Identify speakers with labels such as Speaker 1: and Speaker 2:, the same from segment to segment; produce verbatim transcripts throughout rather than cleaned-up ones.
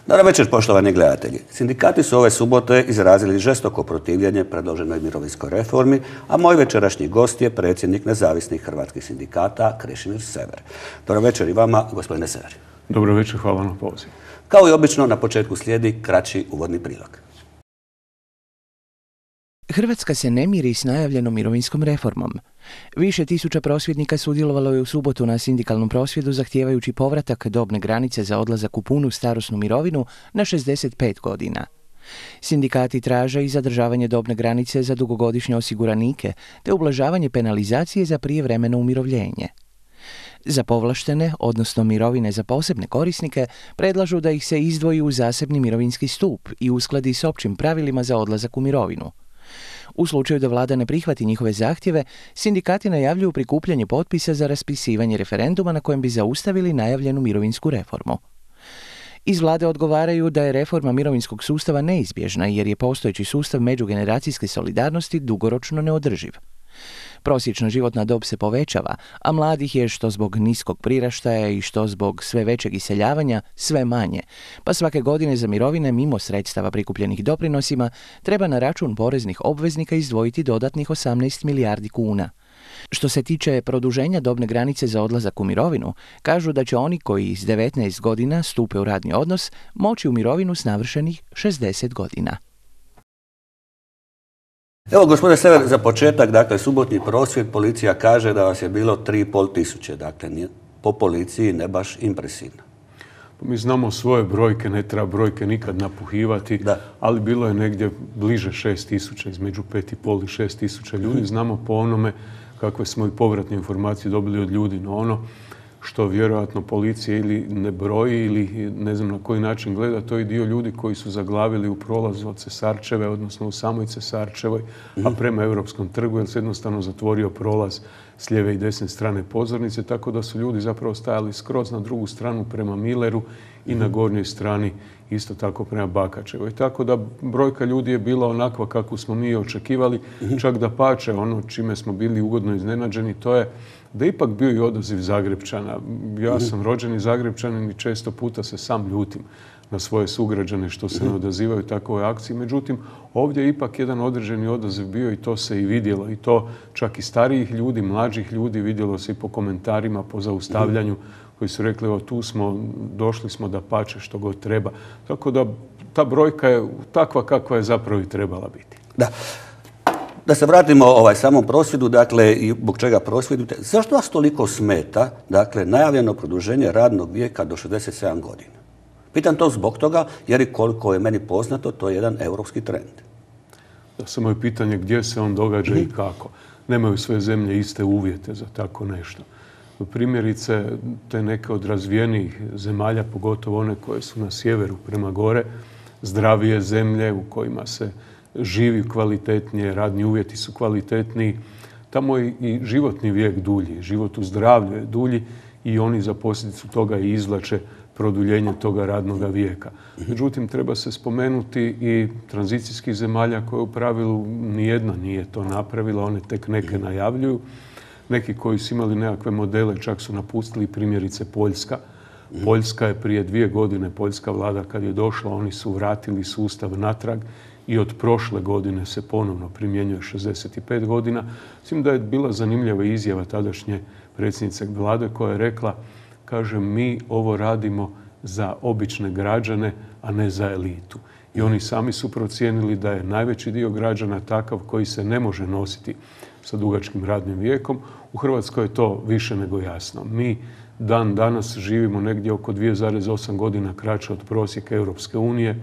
Speaker 1: Dobro večer, poštovani gledatelji. Sindikati su ove subote izrazili žestoko protivljenje predloženoj mirovinskoj reformi, a moj večerašnji gost je predsjednik nezavisnih hrvatskih sindikata Krešimir Sever. Dobro večer i vama, gospodine Sever.
Speaker 2: Dobro večer, hvala na pozivu.
Speaker 1: Kao i obično, na početku slijedi kraći uvodni prilog.
Speaker 3: Hrvatska se ne miri s najavljenom mirovinskom reformom. Više tisuća prosvjednika sudjelovalo je u subotu na sindikalnom prosvjedu zahtijevajući povratak dobne granice za odlazak u punu starosnu mirovinu na šezdeset pet godina. Sindikati traže i zadržavanje dobne granice za dugogodišnje osiguranike te ublažavanje penalizacije za prijevremeno umirovljenje. Za povlaštene, odnosno mirovine za posebne korisnike, predlažu da ih se izdvoji u zasebni mirovinski stup i uskladi s općim pravilima za odlazak u mirovinu. U slučaju da vlada ne prihvati njihove zahtjeve, sindikati najavljuju prikupljanje potpisa za raspisivanje referenduma na kojem bi zaustavili najavljenu mirovinsku reformu. Iz vlade odgovaraju da je reforma mirovinskog sustava neizbježna jer je postojeći sustav međugeneracijske solidarnosti dugoročno neodrživ. Prosječna životna dob se povećava, a mladih je što zbog niskog priraštaja i što zbog sve većeg iseljavanja sve manje, pa svake godine za mirovine mimo sredstava prikupljenih doprinosima treba na račun poreznih obveznika izdvojiti dodatnih osamnaest milijardi kuna. Što se tiče produženja dobne granice za odlazak u mirovinu, kažu da će oni koji s devetnaest godina stupe u radni odnos moći u mirovinu s navršenih šezdeset godina.
Speaker 1: Evo, gospodine Sever, za početak, dakle, subotni prosvjed, policija kaže da vas je bilo tri i pol tisuće, dakle, po policiji ne baš impresivno.
Speaker 2: Mi znamo svoje brojke, ne treba brojke nikad napuhivati, da. Ali bilo je negdje bliže šest tisuća, između pet i pol i šest tisuća ljudi. Znamo po onome kakve smo i povratne informacije dobili od ljudi, no ono što vjerojatno policija ili ne broji ili ne znam na koji način gleda, to je dio ljudi koji su zaglavili u prolazu od Cesarčeve, odnosno u samoj Cesarčevoj, a prema Europskom trgu, jer se jednostavno zatvorio prolaz s lijeve i desne strane pozornice, tako da su ljudi zapravo stajali skroz na drugu stranu prema Mileru i na gornjoj strani isto tako prema Bakačevoj. Tako da brojka ljudi je bila onakva kakvu smo mi očekivali, čak da pače ono čime smo bili ugodno iznenađeni, to je da ipak bio i odaziv Zagrepčana. Ja sam rođeni Zagrepčanin i često puta se sam ljutim na svoje sugrađane što se ne odazivaju takvoj akciji. Međutim, ovdje je ipak jedan određeni odaziv bio i to se i vidjelo. I to čak i starijih ljudi, mlađih ljudi, vidjelo se i po komentarima, po zaustavljanju koji su rekli, evo tu smo, došli smo da pače što god treba. Tako da ta brojka je takva kakva je zapravo i trebala biti.
Speaker 1: Da. Da se vratimo ovaj samom prosvjedu, dakle, i zbog čega prosvjedujete. Zašto vas toliko smeta, dakle, najavljeno produženje radnog vijeka do šezdeset sedam godina? Pitam to zbog toga, jer i koliko je meni poznato, to je jedan europski trend.
Speaker 2: Da, samo je pitanje gdje se on događa i kako. Nemaju sve zemlje iste uvjete za tako nešto. Primjerice, te neke od razvijenijih zemalja, pogotovo one koje su na sjeveru prema gore, zdravije zemlje u kojima se živi kvalitetnije, radni uvjeti su kvalitetniji, tamo je i životni vijek dulji, život u zdravlju je dulji i oni za posljedicu toga i izvlače produljenje toga radnog vijeka. Međutim, treba se spomenuti i tranzicijskih zemalja koje u pravilu nijedna nije to napravila, one tek neke najavljuju. Neki koji su imali nekakve modele čak su napustili, primjerice Poljska. Poljska je prije dvije godine, poljska vlada kad je došla, oni su vratili sustav natrag i od prošle godine se ponovno primjenjuje šezdeset pet godina. Mislim da je bila zanimljiva izjava tadašnje predsjednice vlade koja je rekla, kaže, mi ovo radimo za obične građane, a ne za elitu. I oni sami su procijenili da je najveći dio građana takav koji se ne može nositi sa dugačkim radnim vijekom. U Hrvatskoj je to više nego jasno. Mi dan danas živimo negdje oko dvije zarez osam godina kraće od prosjeka Europske unije.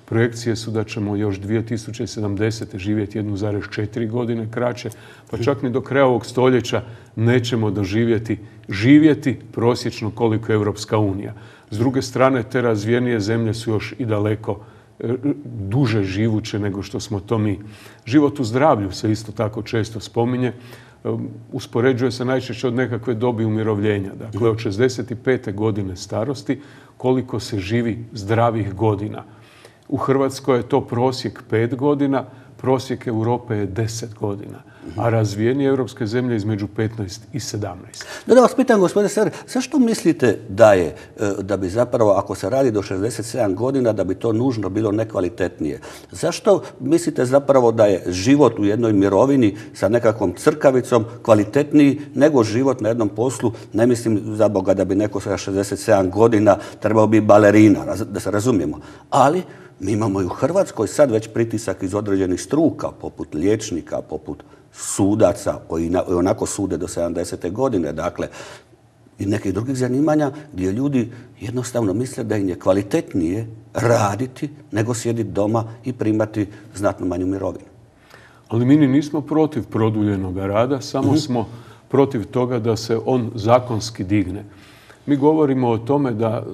Speaker 2: Projekcije su da ćemo još dvije tisuće sedamdesete živjeti jednu zarez četiri godine kraće, pa čak ni do kraja ovog stoljeća nećemo doživjeti živjeti prosječno koliko je Europska unija. S druge strane, te razvijenije zemlje su još i daleko duže živuće nego što smo to mi. Život u zdravlju se isto tako često spominje. Uspoređuje se najčešće od nekakve dobi umirovljenja. Dakle, od šezdeset pete godine starosti koliko se živi zdravih godina. U Hrvatskoj je to prosjek pet godina, prosjek Europe je deset godina, a razvijenije europske zemlje između petnaest i sedamnaest.
Speaker 1: Da, da vas pitam, gospodine Sever, zašto mislite da je, da bi zapravo, ako se radi do šezdeset sedam godina, da bi to nužno bilo nekvalitetnije? Zašto mislite zapravo da je život u jednoj mirovini sa nekakvom crkavicom kvalitetniji nego život na jednom poslu? Ne mislim za Boga da bi neko sa šezdeset sedam godina trebao biti balerina, da se razumijemo. Ali mi imamo i u Hrvatskoj sad već pritisak iz određenih struka, poput liječnika, poput sudaca koji onako sude do sedamdesete godine, dakle, i nekih drugih zanimanja gdje ljudi jednostavno misle da im je kvalitetnije raditi nego sjediti doma i primati znatno manju mirovinu.
Speaker 2: Ali mi nismo protiv produljenog rada, samo smo protiv toga da se on zakonski digne. Mi govorimo o tome da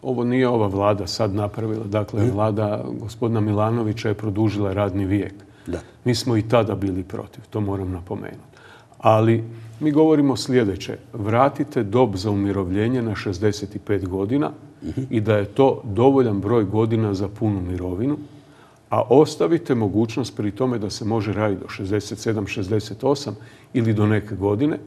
Speaker 2: ovo nije ova vlada sad napravila. Dakle, vlada gospodina Milanovića je produžila radni vijek.
Speaker 1: Da.
Speaker 2: Mi smo i tada bili protiv, to moram napomenuti. Ali mi govorimo sljedeće. Vratite dob za umirovljenje na šezdeset pet godina i da je to dovoljan broj godina za punu mirovinu, a ostavite mogućnost pri tome da se može raditi do šezdeset sedam, šezdeset osam ili do neke godine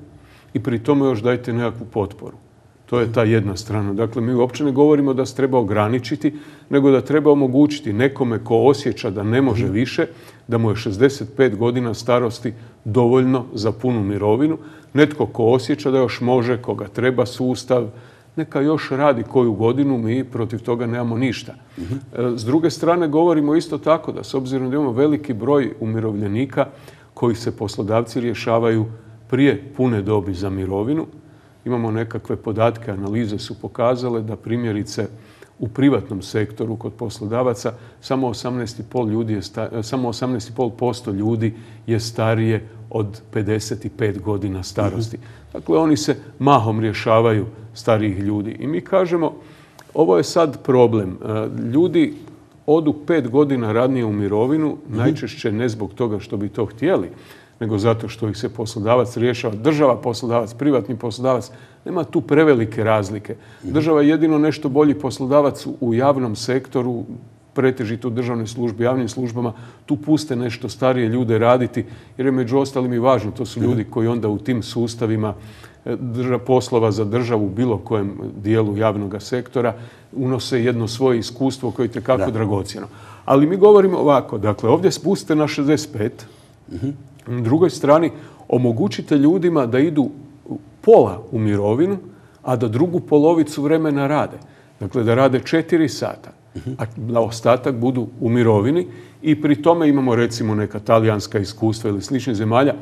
Speaker 2: i pri tome još dajte nekakvu potporu. To je ta jedna strana. Dakle, mi uopće ne govorimo da se treba ograničiti, nego da treba omogućiti nekome ko osjeća da ne može više, da mu je šezdeset pet godina starosti dovoljno za punu mirovinu. Netko ko osjeća da još može, koga treba sustav, neka još radi koju godinu, mi protiv toga nemamo ništa. S druge strane, govorimo isto tako da s obzirom da imamo veliki broj umirovljenika koji se poslodavci rješavaju prije pune dobi za mirovinu, imamo nekakve podatke, analize su pokazale da primjerice u privatnom sektoru kod poslodavaca samo osamnaest zarez pet ljudi je sta, samo osamnaest zarez pet posto ljudi je starije od pedeset pet godina starosti. Dakle, oni se mahom rješavaju starijih ljudi. I mi kažemo, ovo je sad problem. Ljudi odu pet godina ranije u mirovinu, najčešće ne zbog toga što bi to htjeli, nego zato što ih se poslodavac rješava. Država poslodavac, privatni poslodavac, nema tu prevelike razlike. Država je jedino nešto bolji poslodavac u javnom sektoru, pretežito u državnoj službi, javnim službama, tu puste nešto starije ljude raditi, jer je među ostalim i važno. To su ljudi koji onda u tim sustavima poslova za državu u bilo kojem dijelu javnog sektora unose jedno svoje iskustvo koje je itekako dragocjeno. Ali mi govorimo ovako, dakle, ovdje spuste na šezdeset pet, na drugoj strani omogućite ljudima da idu pola u mirovinu, a da drugu polovicu vremena rade. Dakle, da rade četiri sata, a da ostatak budu u mirovini i pri tome imamo recimo neka talijanska iskustva ili sličnih zemalja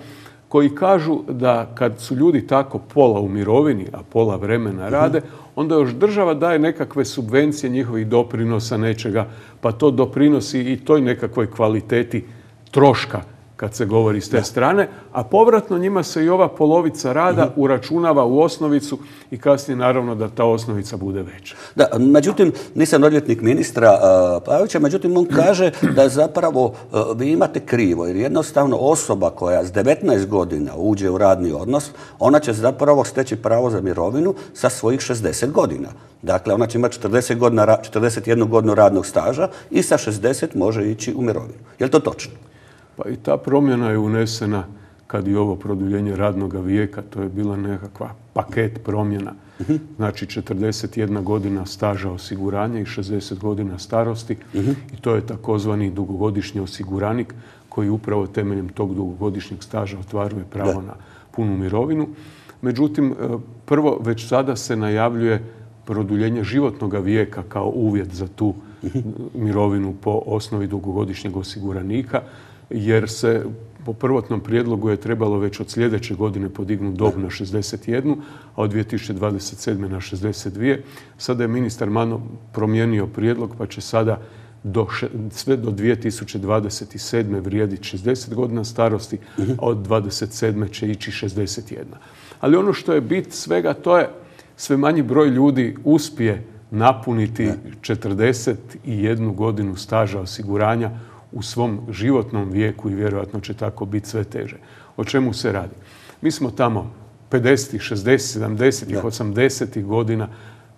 Speaker 2: koji kažu da kad su ljudi tako pola u mirovini, a pola vremena rade, onda još država daje nekakve subvencije njihovih doprinosa nečega, pa to doprinosi i toj nekakvoj kvaliteti troška kad se govori s te strane, a povratno njima se i ova polovica rada uračunava u osnovicu i kasnije naravno da ta osnovica bude veća.
Speaker 1: Da, međutim, nisam odvjetnik ministra uh, Pavića, međutim on kaže da zapravo uh, vi imate krivo, jer jednostavno osoba koja s devetnaest godina uđe u radni odnos, ona će zapravo steći pravo za mirovinu sa svojih šezdeset godina. Dakle, ona će imati četrdeset godina, četrdeset jednu godinu radnog staža i sa šezdeset može ići u mirovinu. Je li to točno?
Speaker 2: Pa i ta promjena je unesena kad i ovo produljenje radnog vijeka, to je bila nekakva paket promjena. Znači četrdeset jedna godina staža osiguranja i šezdeset godina starosti i to je takozvani dugogodišnji osiguranik koji upravo temeljem tog dugogodišnjeg staža ostvaruje pravo na punu mirovinu. Međutim, prvo već sada se najavljuje produljenje životnog vijeka kao uvjet za tu mirovinu po osnovi dugogodišnjeg osiguranika, jer se po prvotnom prijedlogu je trebalo već od sljedeće godine podignuti dob na šezdeset jednu, a od dvije tisuće dvadeset sedme na šezdeset dvije. Sada je ministar Mano promijenio prijedlog, pa će sada do, sve do dvije tisuće dvadeset sedme vrijediti šezdeset godina starosti, a od dvadeset sedme će ići šezdeset jedna. Ali ono što je bit svega, to je sve manji broj ljudi uspije napuniti četrdeset jednu godinu staža osiguranja u svom životnom vijeku i vjerojatno će tako biti sve teže. O čemu se radi? Mi smo tamo pedesetih, šezdesetih, sedamdesetih, osamdesetih godina,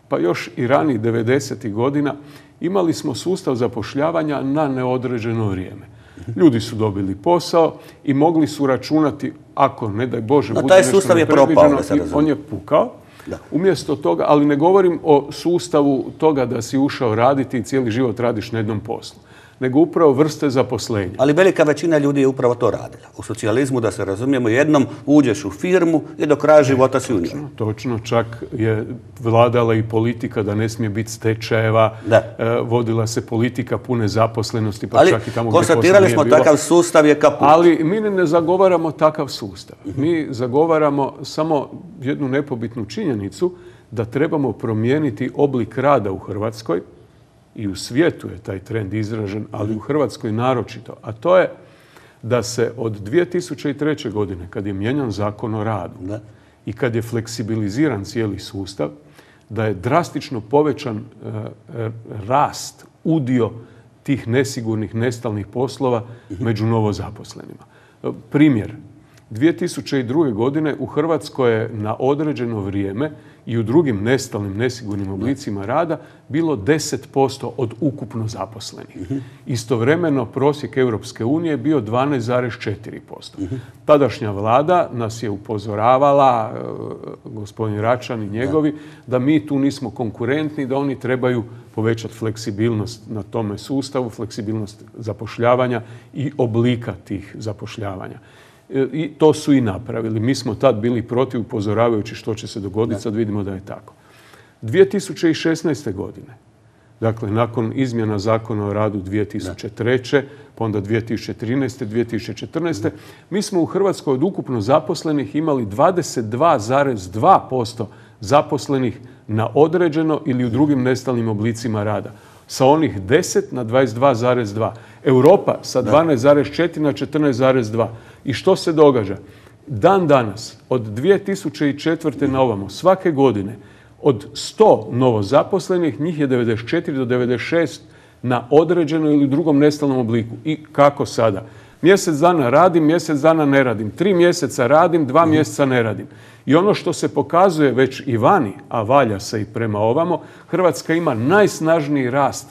Speaker 2: pa još i ranih devedesetih godina imali smo sustav zapošljavanja na neodređeno vrijeme. Ljudi su dobili posao i mogli su računati, ako ne daj Bože
Speaker 1: no,
Speaker 2: bude
Speaker 1: taj
Speaker 2: nešto
Speaker 1: sustav je propao, da se
Speaker 2: on je pukao.
Speaker 1: Da.
Speaker 2: Umjesto toga, ali ne govorim o sustavu toga da si ušao raditi i cijeli život radiš na jednom poslu, nego upravo vrste zaposlenja.
Speaker 1: Ali velika većina ljudi je upravo to radila. U socijalizmu, da se razumijemo, jednom uđeš u firmu i do kraja života si u njoj.
Speaker 2: Točno, točno, čak je vladala i politika da ne smije biti stečajeva, e, vodila se politika pune zaposlenosti, pa
Speaker 1: ali
Speaker 2: čak i tamo
Speaker 1: gdje posla nije bilo. Ali konstatirali smo takav sustav je kaput.
Speaker 2: Ali mi ne zagovaramo takav sustav. Mi zagovaramo samo jednu nepobitnu činjenicu da trebamo promijeniti oblik rada u Hrvatskoj. I u svijetu je taj trend izražen, ali u Hrvatskoj naročito. A to je da se od dvije tisuće treće. godine, kad je mijenjan Zakon o radu da. i kad je fleksibiliziran cijeli sustav, da je drastično povećan e, rast, udio tih nesigurnih, nestalnih poslova među novozaposlenima. Primjer, dvije tisuće druge. godine u Hrvatskoj je na određeno vrijeme i u drugim nestalnim, nesigurnim oblicima rada bilo deset posto od ukupno zaposlenih. Istovremeno prosjek Europske unije je bio dvanaest zarez četiri posto. Tadašnja vlada nas je upozoravala, gospodin Račan i njegovi, da mi tu nismo konkurentni, da oni trebaju povećati fleksibilnost na tome sustavu, fleksibilnost zapošljavanja i oblika tih zapošljavanja. I to su i napravili. Mi smo tad bili protiv, upozoravajući što će se dogoditi, sad vidimo da je tako. dvije tisuće šesnaeste. godine, dakle nakon izmjena Zakona o radu dvije tisuće treće. pa onda dvije tisuće trinaeste. dvije tisuće četrnaeste. mi smo u Hrvatskoj od ukupno zaposlenih imali dvadeset dva zarez dva posto zaposlenih na određeno ili u drugim nestalnim oblicima rada. Sa onih deset na dvadeset dva zarez dva. Europa sa dvanaest zarez četiri na četrnaest zarez dva. I što se događa? Dan danas, od dvije tisuće četvrte. na ovamo, svake godine, od sto novozaposlenih, njih je devedeset četiri do devedeset šest na određeno ili drugom nestalnom obliku. I kako sada? Mjesec dana radim, mjesec dana ne radim. Tri mjeseca radim, dva mjeseca ne radim. I ono što se pokazuje već i vani, a valja se i prema ovamo, Hrvatska ima najsnažniji rast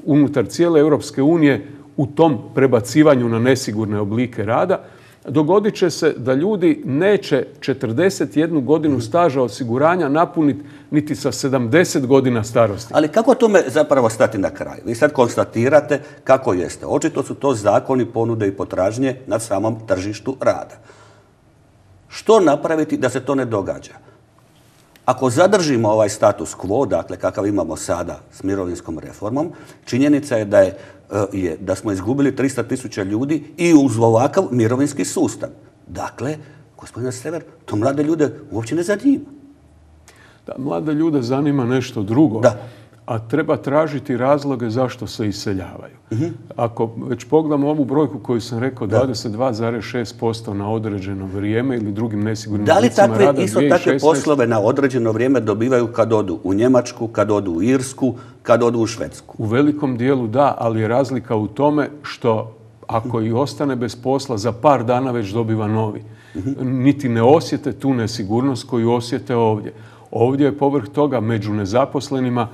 Speaker 2: unutar cijele Europske unije u tom prebacivanju na nesigurne oblike rada. Dogodit će se da ljudi neće četrdeset jednu godinu staža osiguranja napuniti niti sa sedamdeset godina starosti.
Speaker 1: Ali kako tome zapravo stati na kraj? Vi sad konstatirate kako jeste. Očito su to zakoni ponude i potražnje na samom tržištu rada. Što napraviti da se to ne događa? Ako zadržimo ovaj status quo, dakle kakav imamo sada s mirovinskom reformom, činjenica je da, je, je, da smo izgubili tristo tisuća ljudi i uz ovakav mirovinski sustav. Dakle, gospodine Sever, to mlade ljude uopće ne zanima.
Speaker 2: Da, mlade ljude zanima nešto drugo.
Speaker 1: Da.
Speaker 2: A treba tražiti razloge zašto se iseljavaju. Uh-huh. Ako već pogledamo ovu brojku koju sam rekao, dvadeset dva zarez šest posto na određeno vrijeme ili drugim nesigurnim oblicima rada.
Speaker 1: Da li takve, isto takve poslove na određeno vrijeme dobivaju kad odu u Njemačku, kad odu u Irsku, kad odu u Švedsku?
Speaker 2: U velikom dijelu da, ali je razlika u tome što ako i ostane bez posla, za par dana već dobiva novi. Uh-huh. Niti ne osjete tu nesigurnost koju osjete ovdje. Ovdje je povrh toga među nezaposlenima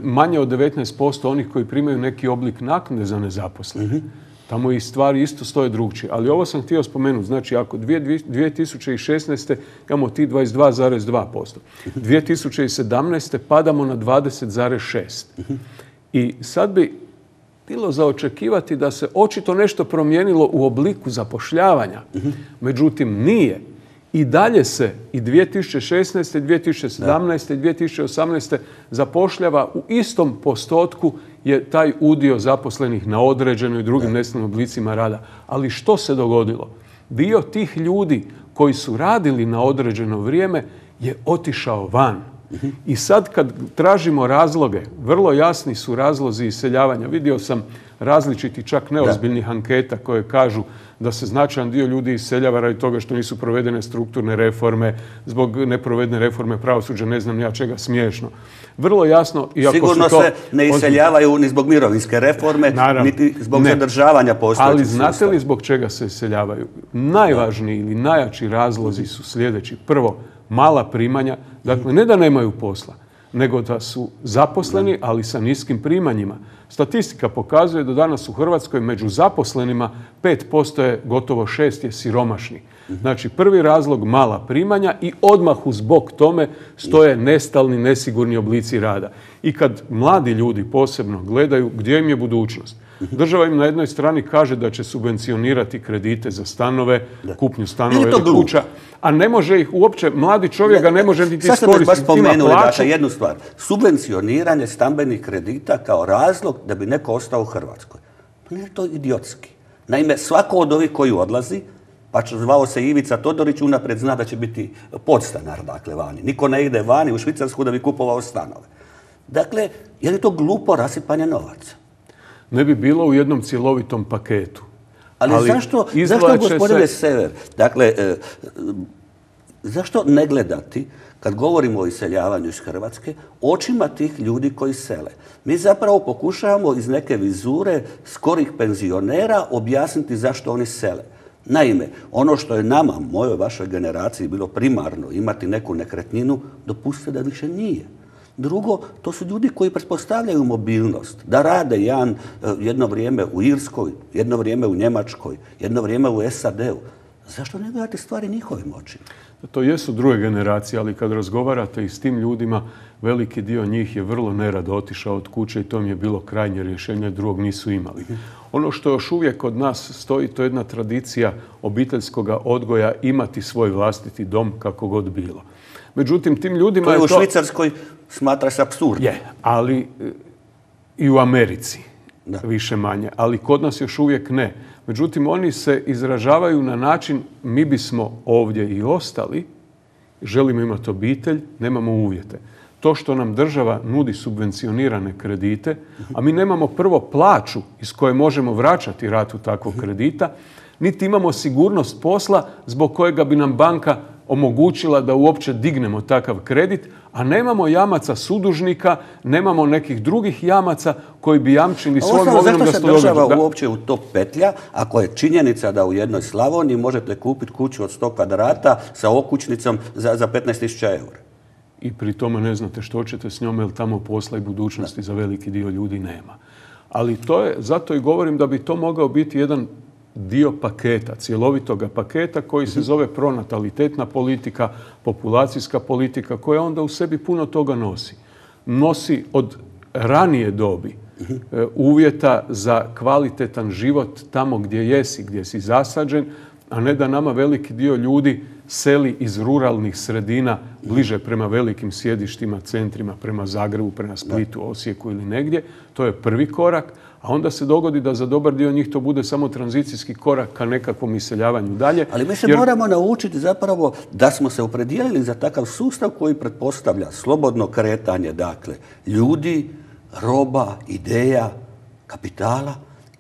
Speaker 2: manje od devetnaest posto onih koji primaju neki oblik naknade za nezaposlene. Tamo i stvari isto stoje drugčije. Ali ovo sam htio spomenuti. Znači, ako dvije tisuće šesnaeste. imamo ti dvadeset dva zarez dva posto. dvije tisuće sedamnaeste. padamo na dvadeset zarez šest. I sad bi bilo za očekivati da se očito nešto promijenilo u obliku zapošljavanja. Međutim, nije. I dalje se i dvije tisuće šesnaeste. dvije tisuće sedamnaeste. i dvije tisuće osamnaeste. zapošljava u istom postotku je taj udio zaposlenih na određeno i drugim nestalnim oblicima rada. Ali što se dogodilo? Dio tih ljudi koji su radili na određeno vrijeme je otišao van. I sad kad tražimo razloge, vrlo jasni su razlozi iseljavanja. Vidio sam različiti, čak neozbiljnih anketa koje kažu da se značajan dio ljudi iseljava radi toga što nisu provedene strukturne reforme, zbog neprovedene reforme pravosuđa, ne znam ja čega, smiješno. Vrlo jasno, iako
Speaker 1: sigurno
Speaker 2: su to...
Speaker 1: se ne iseljavaju ni zbog mirovinske reforme, naravno, niti zbog ne. zadržavanja postojećeg
Speaker 2: Ali
Speaker 1: sustava.
Speaker 2: znate li zbog čega se iseljavaju? Najvažniji ili najjači razlozi su sljedeći. Prvo, mala primanja, dakle ne da nemaju posla, nego da su zaposleni, ali sa niskim primanjima. Statistika pokazuje da danas u Hrvatskoj među zaposlenima pet posto je, gotovo šest je siromašnih. Znači, prvi razlog mala primanja i odmah uz bok tome stoje nestalni, nesigurni oblici rada. I kad mladi ljudi posebno gledaju gdje im je budućnost, država im na jednoj strani kaže da će subvencionirati kredite za stanove, kupnju stanova ili kuća, a ne može ih uopće, mladi čovjek ga ne može niti iskoristiti.
Speaker 1: Sad ste baš spomenuli, dakle, jednu stvar. Subvencioniranje stambenih kredita kao razlog da bi neko ostao u Hrvatskoj. Pa nije to idiotski. Naime, svako od ovih koji odlazi, pa zvao se Ivica Todorić, unaprijed zna da će biti podstanar, dakle, vani. Niko ne ide vani u Švicarsku da bi kupovao stanove. Dakle, je li to glupo rasipanje novaca?
Speaker 2: Ne bi bilo u jednom cjelovitom paketu.
Speaker 1: Ali, Ali zašto, zašto gospodine se... Sever, dakle, e, zašto ne gledati, kad govorimo o iseljavanju iz Hrvatske, očima tih ljudi koji sele? Mi zapravo pokušavamo iz neke vizure skorih penzionera objasniti zašto oni sele. Naime, ono što je nama, mojoj, vašoj generaciji bilo primarno imati neku nekretninu, dopustite da više nije. Drugo, to su ljudi koji pretpostavljaju mobilnost, da rade jedan, jedno vrijeme u Irskoj, jedno vrijeme u Njemačkoj, jedno vrijeme u S A D-u. Zašto ne gledate stvari njihovim očima?
Speaker 2: To jesu druge generacije, ali kad razgovarate i s tim ljudima, veliki dio njih je vrlo nerado otišao od kuće i to mi je bilo krajnje rješenje, drugog nisu imali. Ono što još uvijek kod nas stoji, to je jedna tradicija obiteljskog odgoja imati svoj vlastiti dom kako god bilo. Međutim, tim ljudima
Speaker 1: to je,
Speaker 2: je
Speaker 1: u
Speaker 2: to...
Speaker 1: Švicarskoj smatra se apsurdno.
Speaker 2: Je, ali i u Americi, da. Više manje. Ali kod nas još uvijek ne. Međutim, oni se izražavaju na način mi bismo ovdje i ostali, želimo imati obitelj, nemamo uvjete. To što nam država nudi subvencionirane kredite, a mi nemamo prvo plaću iz koje možemo vraćati ratu takvog kredita, niti imamo sigurnost posla zbog kojega bi nam banka omogućila da uopće dignemo takav kredit, a nemamo jamaca sudužnika, nemamo nekih drugih jamaca koji bi jamčili svojom imovinom da se to događa.
Speaker 1: Zašto se država uopće u to petlja, ako je činjenica da u jednoj Slavoniji možete kupiti kuću od sto kvadrata sa okućnicom za, za petnaest tisuća eura?
Speaker 2: I pri tome ne znate što ćete s njome, jer tamo posla i budućnosti za veliki dio ljudi nema. Ali to je, zato i govorim da bi to mogao biti jedan dio paketa, cjelovitoga paketa koji se zove pronatalitetna politika, populacijska politika, koja onda u sebi puno toga nosi. Nosi od ranije dobi uvjeta za kvalitetan život tamo gdje jesi, gdje si zasađen, a ne da nama veliki dio ljudi seli iz ruralnih sredina bliže prema velikim sjedištima, centrima, prema Zagrebu, prema Splitu, Osijeku ili negdje. To je prvi korak. A onda se dogodi da za dobar dio njih to bude samo tranzicijski korak ka nekakvom iseljavanju dalje.
Speaker 1: Ali mi se jer... moramo naučiti zapravo da smo se opredijelili za takav sustav koji pretpostavlja slobodno kretanje, dakle, ljudi, roba, ideja, kapitala.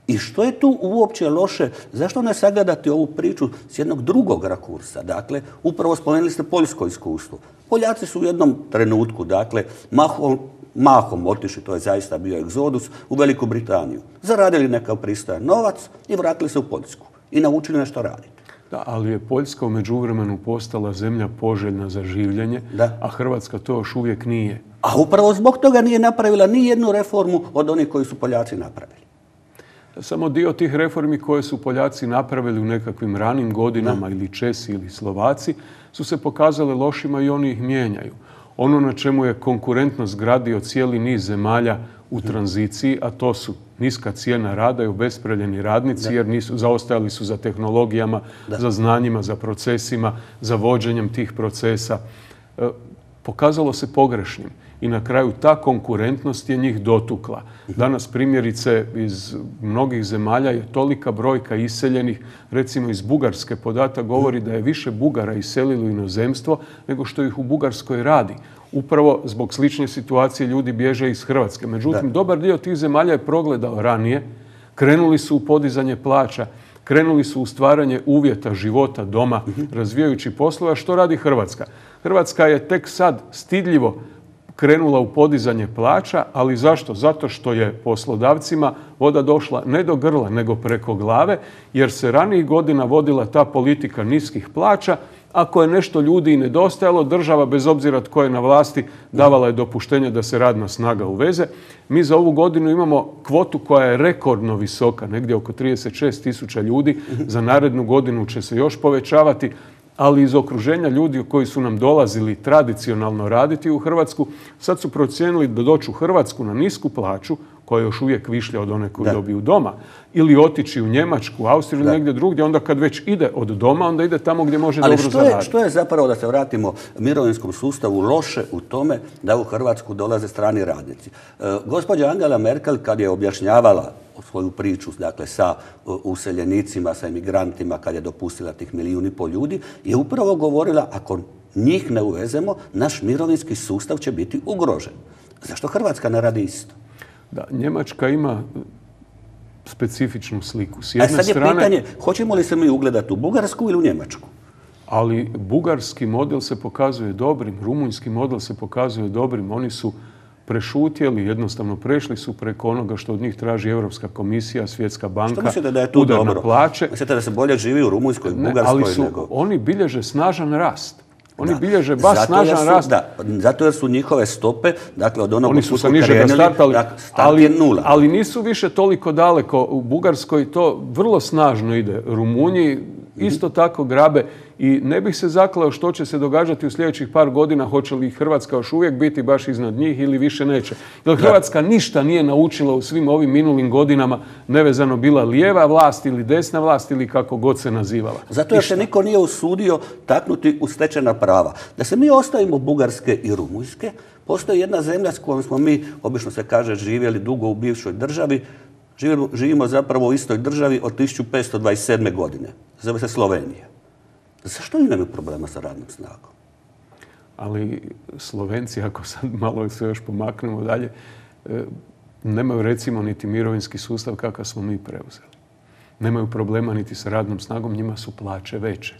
Speaker 1: I što je tu uopće loše? Zašto ne sagledati ovu priču s jednog drugog rakursa? Dakle, upravo spomenuli ste poljsko iskustvo. Poljaci su u jednom trenutku, dakle, mahom mahom otišli, to je zaista bio egzodus, u Veliku Britaniju. Zaradili nekav pristojan novac i vratili se u Poljsku. I naučili nešto raditi.
Speaker 2: Da, ali je Poljska u međuvremenu postala zemlja poželjna za življenje, da. A Hrvatska to još uvijek nije.
Speaker 1: A upravo zbog toga nije napravila ni jednu reformu od onih koji su Poljaci napravili.
Speaker 2: Samo dio tih reformi koje su Poljaci napravili u nekakvim ranim godinama, da. Ili Česi ili Slovaci, su se pokazale lošima i oni ih mijenjaju. Ono na čemu je konkurentnost gradio cijeli niz zemalja u tranziciji, a to su niska cijena rada i obespravljeni radnici, da. Jer nisu, zaostajali su za tehnologijama, da. Za znanjima, za procesima, za vođenjem tih procesa. E, pokazalo se pogrešnim i na kraju ta konkurentnost je njih dotukla. Danas primjerice iz mnogih zemalja je tolika brojka iseljenih, recimo iz Bugarske podatak govori da je više Bugara iselilo u inozemstvo nego što ih u Bugarskoj radi. Upravo zbog slične situacije ljudi bježe iz Hrvatske. Međutim, da. Dobar dio tih zemalja je progledao ranije, krenuli su u podizanje plaća, krenuli su u stvaranje uvjeta života doma, uh-huh. razvijajući poslova. Što radi Hrvatska? Hrvatska je tek sad stidljivo krenula u podizanje plaća, ali zašto? Zato što je poslodavcima voda došla ne do grla, nego preko glave, jer se ranijih godina vodila ta politika niskih plaća Ako je nešto ljudi i nedostajalo, država, bez obzira tko je na vlasti, davala je dopuštenje da se radna snaga uveze. Mi za ovu godinu imamo kvotu koja je rekordno visoka, negdje oko trideset šest tisuća ljudi. Za narednu godinu će se još povećavati, ali iz okruženja ljudi koji su nam dolazili tradicionalno raditi u Hrvatsku, sad su procijenili da doći u Hrvatsku na nisku plaću, koja je još uvijek višlja od one koju da. dobiju doma, ili otići u Njemačku, Austriju ili negdje drugdje, onda kad već ide od doma, onda ide tamo gdje može
Speaker 1: Ali
Speaker 2: dobro
Speaker 1: što je,
Speaker 2: zaraditi.
Speaker 1: što je zapravo, da se vratimo mirovinskom sustavu, loše u tome da u Hrvatsku dolaze strani radnici? E, gospođa Angela Merkel, kad je objašnjavala svoju priču, dakle, sa useljenicima, sa emigrantima, kad je dopustila tih milijun i pol ljudi, je upravo govorila, ako njih ne uvezemo, naš mirovinski sustav će biti ugrožen. Zašto Hrvatska ne radi isto?
Speaker 2: Da, Njemačka ima specifičnu sliku. S
Speaker 1: A
Speaker 2: jedne
Speaker 1: sad je
Speaker 2: strane,
Speaker 1: pitanje, hoćemo li se mi ugledati u Bugarsku ili u Njemačku?
Speaker 2: Ali bugarski model se pokazuje dobrim, rumunjski model se pokazuje dobrim. Oni su prešutjeli, jednostavno prešli su preko onoga što od njih traži Europska komisija, Svjetska banka,
Speaker 1: što mislite da je tu
Speaker 2: udar
Speaker 1: dobro?
Speaker 2: na plaće.
Speaker 1: Mislite da se bolje živi u Rumunjskoj,
Speaker 2: Ne,
Speaker 1: Bugarskoj
Speaker 2: ali su,
Speaker 1: nego...
Speaker 2: oni bilježe snažan rast. Oni
Speaker 1: Da.
Speaker 2: bilježe baš
Speaker 1: Zato jer
Speaker 2: snažan
Speaker 1: su-
Speaker 2: rast.
Speaker 1: Da, zato jer su njihove stope, dakle od onog
Speaker 2: Oni su
Speaker 1: od
Speaker 2: sa
Speaker 1: kud
Speaker 2: nižega
Speaker 1: krenuli,
Speaker 2: startali,
Speaker 1: dakle, start
Speaker 2: ali,
Speaker 1: je nula.
Speaker 2: ali nisu više toliko daleko. U Bugarskoj to vrlo snažno ide. Rumunji isto tako grabe i ne bih se zaklao što će se događati u sljedećih par godina, hoće li Hrvatska još uvijek biti baš iznad njih ili više neće. Jer Hrvatska ništa nije naučila u svim ovim minulim godinama, nevezano bila lijeva vlast ili desna vlast ili kako god se nazivala.
Speaker 1: Zato jer se niko nije usudio taknuti u stečena prava. Da se mi ostavimo Bugarske i Rumunjske, postoji jedna zemlja s kojom smo mi, obično se kaže, živjeli dugo u bivšoj državi, živimo, živimo zapravo u istoj državi od tisuću petsto dvadeset sedme. godine. Zove se Slovenija. Zašto oni nemaju problema sa radnom snagom?
Speaker 2: Ali Slovenci, ako sad malo se još pomaknemo dalje, e, nemaju recimo niti mirovinski sustav kakav smo mi preuzeli. Nemaju problema niti sa radnom snagom, njima su plaće veće.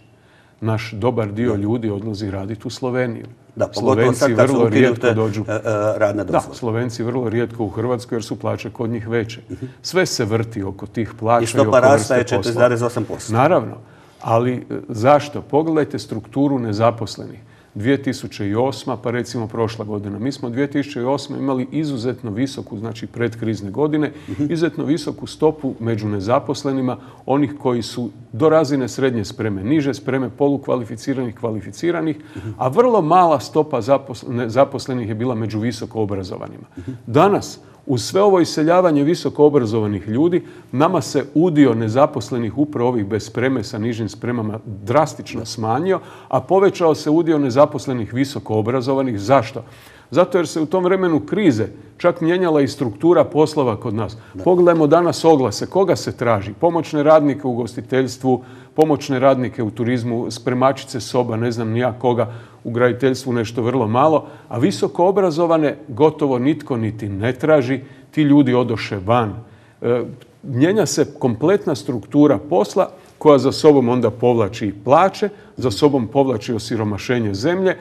Speaker 2: Naš dobar dio ljudi odlazi raditi u Sloveniju.
Speaker 1: Da, pogotovo sad kad su
Speaker 2: vrlo rijetko
Speaker 1: ukinute
Speaker 2: dođu.
Speaker 1: e, e, radne
Speaker 2: Da,
Speaker 1: dozvole.
Speaker 2: Slovenci vrlo rijetko u Hrvatskoj jer su plaće kod njih veće. Sve se vrti oko tih plaća
Speaker 1: I
Speaker 2: i
Speaker 1: stopa
Speaker 2: oko
Speaker 1: rasta je
Speaker 2: vrste
Speaker 1: četiri
Speaker 2: posla.
Speaker 1: zarez osam posto.
Speaker 2: Naravno, ali e, zašto? Pogledajte strukturu nezaposlenih. dvije tisuće osma. pa recimo prošla godina. Mi smo dvije tisuće osme. imali izuzetno visoku, znači predkrizne godine, izuzetno visoku stopu među nezaposlenima, onih koji su do razine srednje spreme, niže spreme, polukvalificiranih, kvalificiranih, a vrlo mala stopa nezaposlenih je bila među visoko obrazovanima. Danas, uz sve ovo iseljavanje visoko obrazovanih ljudi, nama se udio nezaposlenih upravo ovih bez spreme sa nižim spremama drastično smanjio, a povećao se udio nezaposlenih visoko obrazovanih. Zašto? Zato jer se u tom vremenu krize čak mijenjala i struktura poslova kod nas. Da. Pogledajmo danas oglase. Koga se traži? Pomoćne radnike u ugostiteljstvu, pomoćne radnike u turizmu, spremačice soba, ne znam ni ja koga, u graditeljstvu nešto vrlo malo, a visoko obrazovane gotovo nitko niti ne traži, ti ljudi odoše van. E, mijenja se kompletna struktura posla koja za sobom onda povlači i plaće, za sobom povlači osiromašenje zemlje,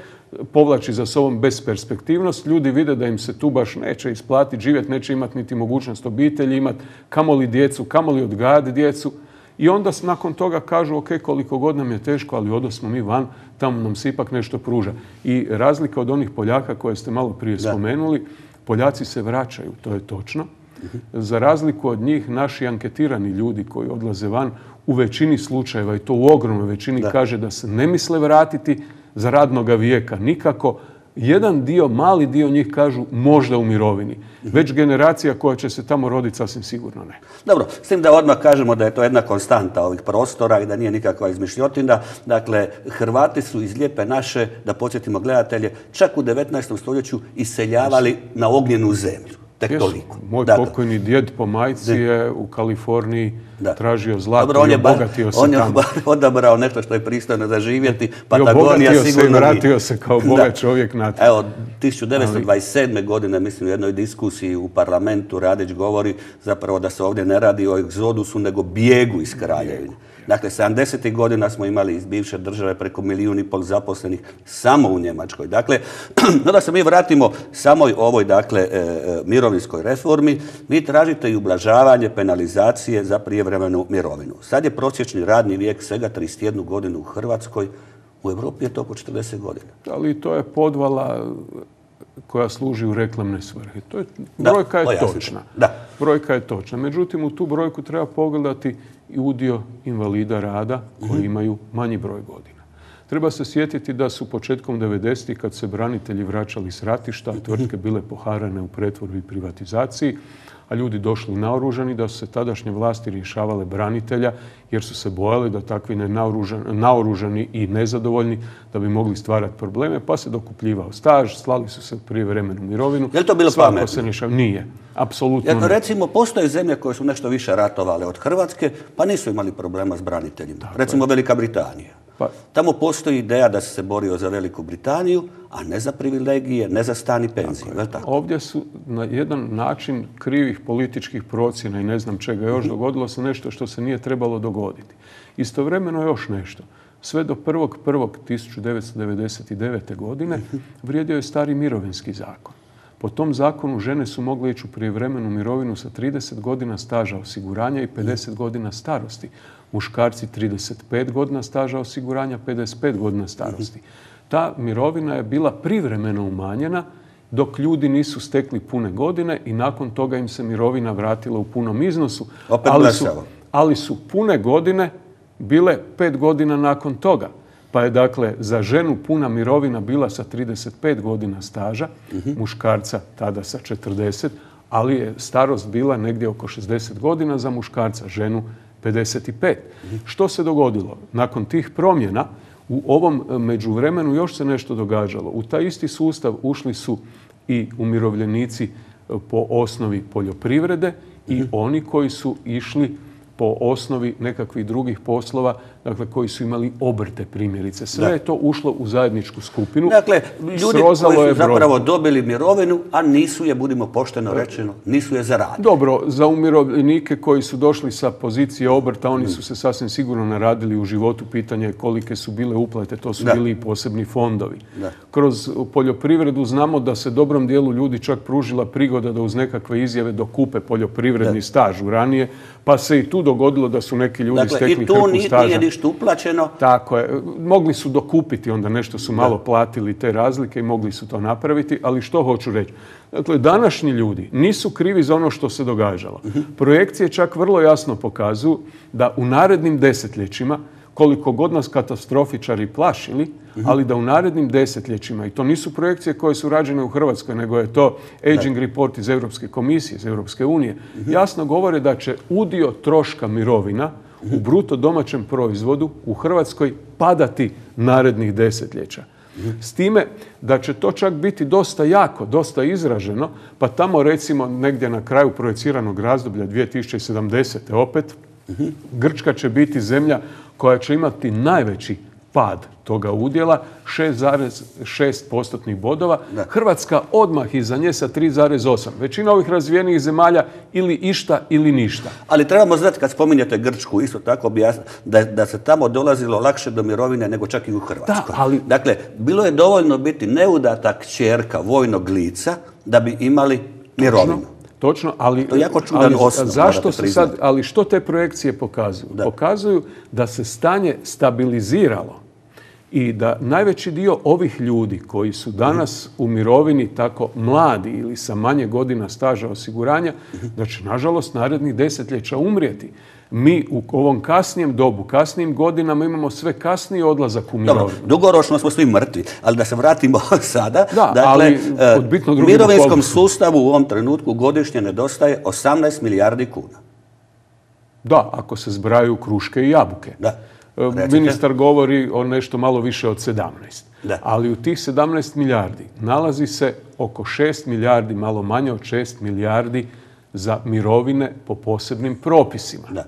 Speaker 2: povlači za sobom besperspektivnost. Ljudi vide da im se tu baš neće isplatiti živjeti, neće imati niti mogućnost obitelji imati, kamoli djecu, kamoli odgajati djecu. I onda nakon toga kažu, ok, koliko god nam je teško, ali odosmo mi van, tamo nam se ipak nešto pruža. I razlika od onih Poljaka koje ste malo prije da. spomenuli, Poljaci se vraćaju, to je točno. Za razliku od njih, naši anketirani ljudi koji odlaze van, u većini slučajeva, i to u ogromnoj većini, da. kaže da se ne misle vratiti za radnoga vijeka nikako. Jedan dio, mali dio njih kažu možda u mirovini. Već generacija koja će se tamo roditi sasvim sigurno ne.
Speaker 1: Dobro, s tim da odmah kažemo da je to jedna konstanta ovih prostora i da nije nikakva izmišljotina. Dakle, Hrvati su iz Lijepe naše, da podsjetimo gledatelje, čak u devetnaestom stoljeću iseljavali na ognjenu zemlju. Tek toliko.
Speaker 2: Moj dakle. pokojni djed po majci je u Kaliforniji da. tražio zlato. Dobro, on je
Speaker 1: i
Speaker 2: obogatio se
Speaker 1: on
Speaker 2: tamo.
Speaker 1: On je odabrao nešto što je pristojno za živjeti.
Speaker 2: Patagonija sigurno se i vratio se kao bogat čovjek na to.
Speaker 1: Evo, tisuću devetsto dvadeset sedme. godine, mislim, u jednoj diskusiji u parlamentu Radić govori zapravo da se ovdje ne radi o egzodusu, nego bijegu iz kraljevine. Dakle, sedamdesetih godina smo imali iz bivše države preko milijun i pol zaposlenih samo u Njemačkoj. Dakle, no da se mi vratimo samoj ovoj, dakle, mirovinskoj reformi, vi tražite i ublažavanje penalizacije za prijevremenu mirovinu. Sad je prosječni radni vijek svega trideset jednu godinu u Hrvatskoj. U Europi je to oko četrdeset godina.
Speaker 2: Ali to je podvala koja služi u reklamne svrhe. To je, brojka
Speaker 1: da,
Speaker 2: je točna.
Speaker 1: Da.
Speaker 2: Brojka je točna. Međutim, u tu brojku treba pogledati i udio invalida rada koji mm-hmm. imaju manji broj godina. Treba se sjetiti da su početkom devedesetih kad se branitelji vraćali s ratišta, tvrtke bile poharane u pretvorbi i privatizaciji, a ljudi došli naoružani, da su se tadašnje vlasti rješavale branitelja jer su se bojali da takvi naoružani i nezadovoljni da bi mogli stvarati probleme, pa se dokupljivao staž, slali su se u prijevremenu mirovinu.
Speaker 1: Je li to bilo pametno?
Speaker 2: Se rješava. Nije. Apsolutno
Speaker 1: jer,
Speaker 2: ne.
Speaker 1: recimo, postoje zemlje koje su nešto više ratovale od Hrvatske, pa nisu imali problema s braniteljima. Tako recimo je. Velika Britanija. Pa, tamo postoji ideja da se se borio za Veliku Britaniju, a ne za privilegije, ne za stan i penziju. Tako je. Tako?
Speaker 2: Ovdje su na jedan način krivih političkih procjena i ne znam čega još mm-hmm. dogodilo se nešto što se nije trebalo dogoditi. Istovremeno još nešto. Sve do prvog prvog tisuću devetsto devedeset devete. godine mm-hmm. vrijedio je stari mirovinski zakon. Po tom zakonu žene su mogle ići u prijevremenu mirovinu sa trideset godina staža osiguranja i pedeset godina starosti. Muškarci trideset pet godina staža osiguranja, pedeset pet godina starosti. Ta mirovina je bila privremeno umanjena dok ljudi nisu stekli pune godine i nakon toga im se mirovina vratila u punom iznosu. Ali su, ali su pune godine bile pet godina nakon toga. Pa je dakle za ženu puna mirovina bila sa trideset pet godina staža, uh-huh. muškarca tada sa četrdeset, ali je starost bila negdje oko šezdeset godina za muškarca, ženu pedeset pet. Uh-huh. Što se dogodilo? Nakon tih promjena u ovom međuvremenu još se nešto događalo. U taj isti sustav ušli su i umirovljenici po osnovi poljoprivrede uh-huh. i oni koji su išli po osnovi nekakvih drugih poslova, dakle, koji su imali obrte primjerice. Sve da. je to ušlo u zajedničku skupinu.
Speaker 1: Dakle, ljudi Srozalo koji su zapravo dobili mirovinu, a nisu je, budimo pošteno rečeno, nisu je zaradili.
Speaker 2: Dobro, za umirovljenike koji su došli sa pozicije obrta, oni su se sasvim sigurno naradili u životu. Pitanje je kolike su bile uplate, to su da. bili i posebni fondovi. Da. Kroz poljoprivredu znamo da se dobrom dijelu ljudi čak pružila prigoda da uz nekakve izjave dokupe poljoprivredni da. staž u ranije, pa se i tu dogodilo da su neki ljudi
Speaker 1: dakle,
Speaker 2: stekli hrpu staža.
Speaker 1: Dakle, i tu nije ništa uplaćeno.
Speaker 2: Tako je. Mogli su dokupiti, onda nešto su malo da. platili te razlike i mogli su to napraviti, ali što hoću reći? Dakle, današnji ljudi nisu krivi za ono što se događalo. Uh-huh. Projekcije čak vrlo jasno pokazuju da u narednim desetljećima, koliko god nas katastrofičari plašili, uh-huh. ali da u narednim desetljećima, i to nisu projekcije koje su rađene u Hrvatskoj, nego je to Aging da. Report iz Europske komisije, iz Europske unije, uh-huh. jasno govore da će udio troška mirovina uh-huh. u bruto domaćem proizvodu u Hrvatskoj padati narednih desetljeća. Uh-huh. S time da će to čak biti dosta jako, dosta izraženo, pa tamo recimo negdje na kraju projeciranog razdoblja dvije tisuće sedamdesete opet, uh-huh. Grčka će biti zemlja koja će imati najveći pad toga udjela, šest zarez šest postotnih bodova. Da. Hrvatska odmah iza nje sa tri zarez osam. Većina ovih razvijenih zemalja ili išta ili ništa.
Speaker 1: Ali trebamo znati, kad spominjete Grčku, isto tako objasniti da, da se tamo dolazilo lakše do mirovine nego čak i u Hrvatskoj.
Speaker 2: Da, ali...
Speaker 1: Dakle, bilo je dovoljno biti neudata kćerka vojnog lica da bi imali mirovinu.
Speaker 2: Točno. Točno, ali,
Speaker 1: to je jako čudan osnov,
Speaker 2: zašto se sad, ali što te projekcije pokazuju? Da. Pokazuju da se stanje stabiliziralo i da najveći dio ovih ljudi koji su danas mm. u mirovini tako mladi ili sa manje godina staža osiguranja, mm. da će nažalost narednih desetljeća umrijeti. Mi u ovom kasnijem dobu, kasnijim godinama imamo sve kasniji odlazak u mirovinu.
Speaker 1: Dobro, dugoročno smo svi mrtvi, ali da se vratimo sada.
Speaker 2: Da,
Speaker 1: dakle,
Speaker 2: ali kod bitno drugim
Speaker 1: mirovinskom
Speaker 2: okolnostima.
Speaker 1: sustavu u ovom trenutku godišnje nedostaje osamnaest milijardi kuna.
Speaker 2: Da, ako se zbrajaju kruške i jabuke.
Speaker 1: Da.
Speaker 2: Ministar govori o nešto malo više od sedamnaest.
Speaker 1: Da.
Speaker 2: Ali u tih sedamnaest milijardi nalazi se oko šest milijardi, malo manje od šest milijardi za mirovine po posebnim propisima.
Speaker 1: Da.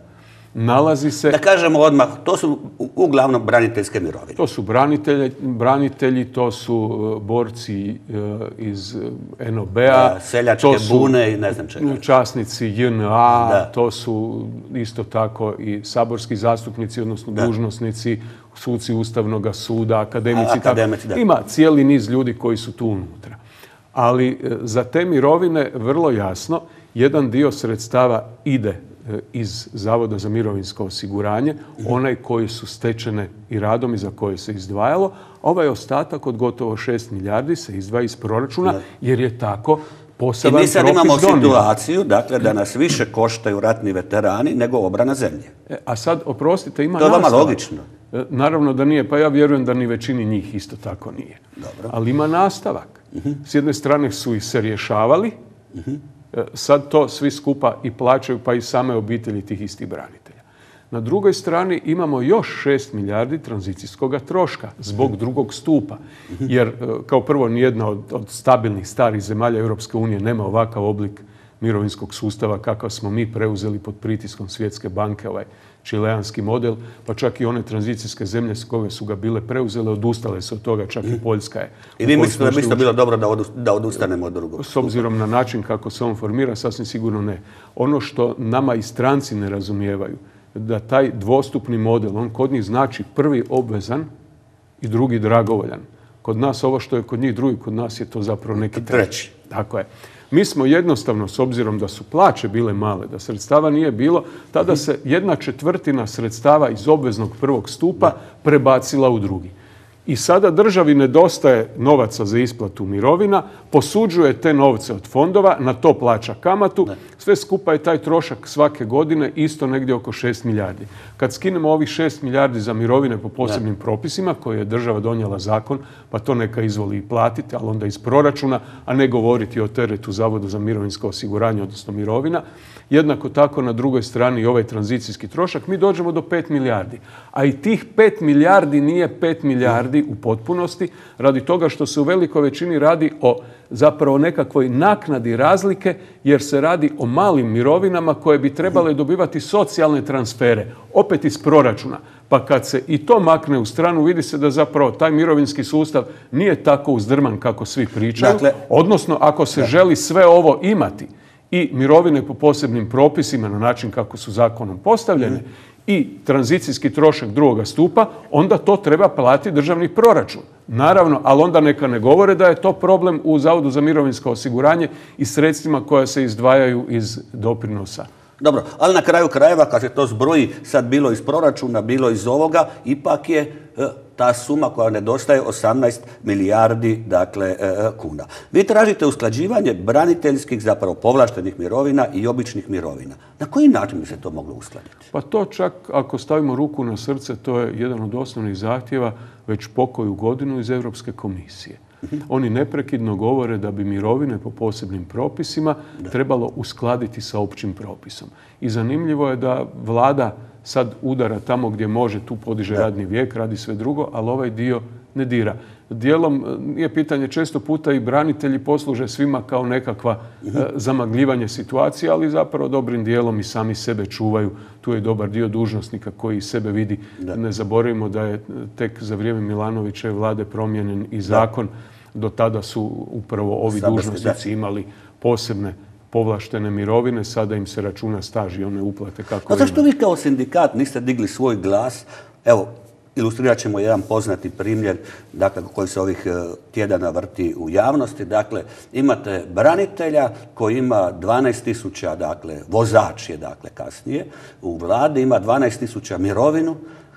Speaker 2: Nalazi se...
Speaker 1: Da kažemo odmah, to su uglavnom braniteljske mirovine.
Speaker 2: To su branitelji, branitelji to su borci iz en o be-a.
Speaker 1: Seljačke bune i ne znam čega.
Speaker 2: Časnici je en a, da. To su isto tako i saborski zastupnici, odnosno da. dužnosnici, suci Ustavnog suda, akademici.
Speaker 1: akademici da.
Speaker 2: Ima cijeli niz ljudi koji su tu unutra. Ali za te mirovine vrlo jasno jedan dio sredstava ide iz Zavoda za mirovinsko osiguranje, onaj koji su stečene i radom i za koje se izdvajalo. Ovaj ostatak od gotovo šest milijardi se izdvaja iz proračuna jer je tako poseban propis donio.
Speaker 1: I mi sad imamo situaciju, dakle, da nas više koštaju ratni veterani nego obrana zemlje.
Speaker 2: E, a sad, oprostite, ima
Speaker 1: nastavak. To je
Speaker 2: nastavak.
Speaker 1: vama logično.
Speaker 2: E, naravno da nije, pa ja vjerujem da ni većini njih isto tako nije.
Speaker 1: Dobro.
Speaker 2: Ali ima nastavak. Uh-huh. S jedne strane su ih se rješavali, uh-huh. e, sad to svi skupa i plaćaju, pa i same obitelji tih istih branitelja. Na drugoj strani imamo još šest milijardi tranzicijskog troška zbog drugog stupa. Jer kao prvo nijedna od, od stabilnih starih zemalja Europske unije nema ovakav oblik mirovinskog sustava kakav smo mi preuzeli pod pritiskom Svjetske banke, ovaj čileanski model, pa čak i one tranzicijske zemlje s koje su ga bile preuzele, odustale su od toga, čak i Poljska je.
Speaker 1: I vi mislite da bi to bilo dobro da odustanemo od drugog?
Speaker 2: S obzirom na način kako se on formira, sasvim sigurno ne. Ono što nama i stranci ne razumijevaju, da taj dvostupni model, on kod njih znači prvi obvezan i drugi dragovoljan. Kod nas ovo što je kod njih drugi, kod nas je to zapravo neki treći. Tako je. Mi smo jednostavno, s obzirom da su plaće bile male, da sredstava nije bilo, tada se jedna četvrtina sredstava iz obveznog prvog stupa prebacila u drugi. I sada državi nedostaje novaca za isplatu mirovina, posuđuje te novce od fondova, na to plaća kamatu, sve skupa je taj trošak svake godine isto negdje oko šest milijardi. Kad skinemo ovih šest milijardi za mirovine po posebnim propisima, koje je država donijela zakon, pa to neka izvoli i platiti, ali onda iz proračuna, a ne govoriti o teretu Zavodu za mirovinsko osiguranje, odnosno mirovina, jednako tako na drugoj strani ovaj tranzicijski trošak, mi dođemo do pet milijardi. A i tih pet milijardi nije pet milijardi u potpunosti, radi toga što se u velikoj većini radi o zapravo nekakvoj naknadi razlike, jer se radi o malim mirovinama koje bi trebale dobivati socijalne transfere, opet iz proračuna. Pa kad se i to makne u stranu, vidi se da zapravo taj mirovinski sustav nije tako uzdrman kako svi pričaju. Dakle, odnosno, ako se da. želi sve ovo imati, i mirovine po posebnim propisima na način kako su zakonom postavljene, mm. i tranzicijski trošak drugoga stupa, onda to treba platiti državni proračun. Naravno, ali onda neka ne govore da je to problem u Zavodu za mirovinsko osiguranje i sredstvima koja se izdvajaju iz doprinosa.
Speaker 1: Dobro, ali na kraju krajeva, kad se to zbroji, sad bilo iz proračuna, bilo iz ovoga, ipak je ta suma koja nedostaje osamnaest milijardi dakle, kuna. Vi tražite usklađivanje braniteljskih, zapravo povlaštenih mirovina i običnih mirovina. Na koji način bi se to moglo uskladiti?
Speaker 2: Pa to čak, ako stavimo ruku na srce, to je jedan od osnovnih zahtjeva već pokoju godinu iz Europske komisije. Oni neprekidno govore da bi mirovine po posebnim propisima da. trebalo uskladiti sa općim propisom. I zanimljivo je da vlada sad udara tamo gdje može, tu podiže da. radni vijek, radi sve drugo, ali ovaj dio ne dira. Dijelom nije pitanje, često puta i branitelji posluže svima kao nekakva uh-huh. e, zamagljivanje situacije, ali zapravo dobrim dijelom i sami sebe čuvaju. Tu je dobar dio dužnosnika koji sebe vidi. Da. Ne zaboravimo da je tek za vrijeme Milanovićeve vlade promijenjen i zakon. Da. Do tada su upravo ovi Sabarski, dužnosnici da. imali posebne povlaštene mirovine, sada im se računa staž i one uplate kako
Speaker 1: A zašto vi kao sindikat niste digli svoj glas? Evo, ilustrirat ćemo jedan poznati primjer, dakle, koji se ovih tjedana vrti u javnosti. Dakle, imate branitelja koji ima dvanaest tisuća, dakle, vozač je, dakle, kasnije, u vladi ima dvanaest tisuća mirovinu,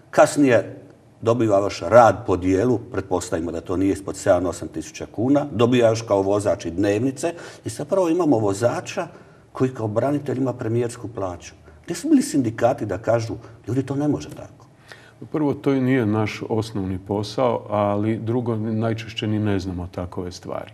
Speaker 1: kasnije dobiva još rad po dijelu, pretpostavimo da to nije ispod sedam do osam tisuća kuna, dobija još kao vozač i dnevnice i zapravo imamo vozača koji kao branitelj ima premijersku plaću. Gdje su bili sindikati da kažu, ljudi, to ne može tako?
Speaker 2: Prvo, to i nije naš osnovni posao, ali drugo, najčešće ni ne znamo takove stvari.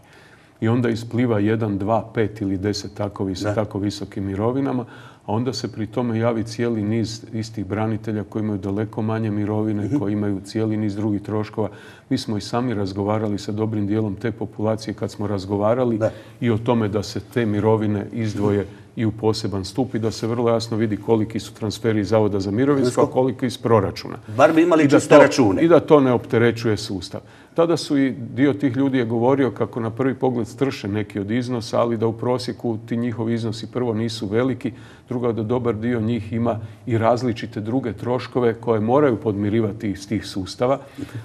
Speaker 2: I onda ispliva jedan, dva, pet ili deset takovi sa tako visokim mirovinama, a onda se pri tome javi cijeli niz istih branitelja koji imaju daleko manje mirovine, mm-hmm. koji imaju cijeli niz drugih troškova. Mi smo i sami razgovarali sa dobrim dijelom te populacije kad smo razgovarali da. i o tome da se te mirovine izdvoje i u poseban stup i da se vrlo jasno vidi koliki su transferi iz Zavoda za mirovinsko, a koliki iz proračuna.
Speaker 1: Bar bi imali čiste račune.
Speaker 2: I da to ne opterećuje sustav. Tada su i dio tih ljudi je govorio kako na prvi pogled strše neki od iznosa, ali da u prosjeku ti njihovi iznosi prvo nisu veliki, drugo da dobar dio njih ima i različite druge troškove koje moraju podmirivati iz tih sustava.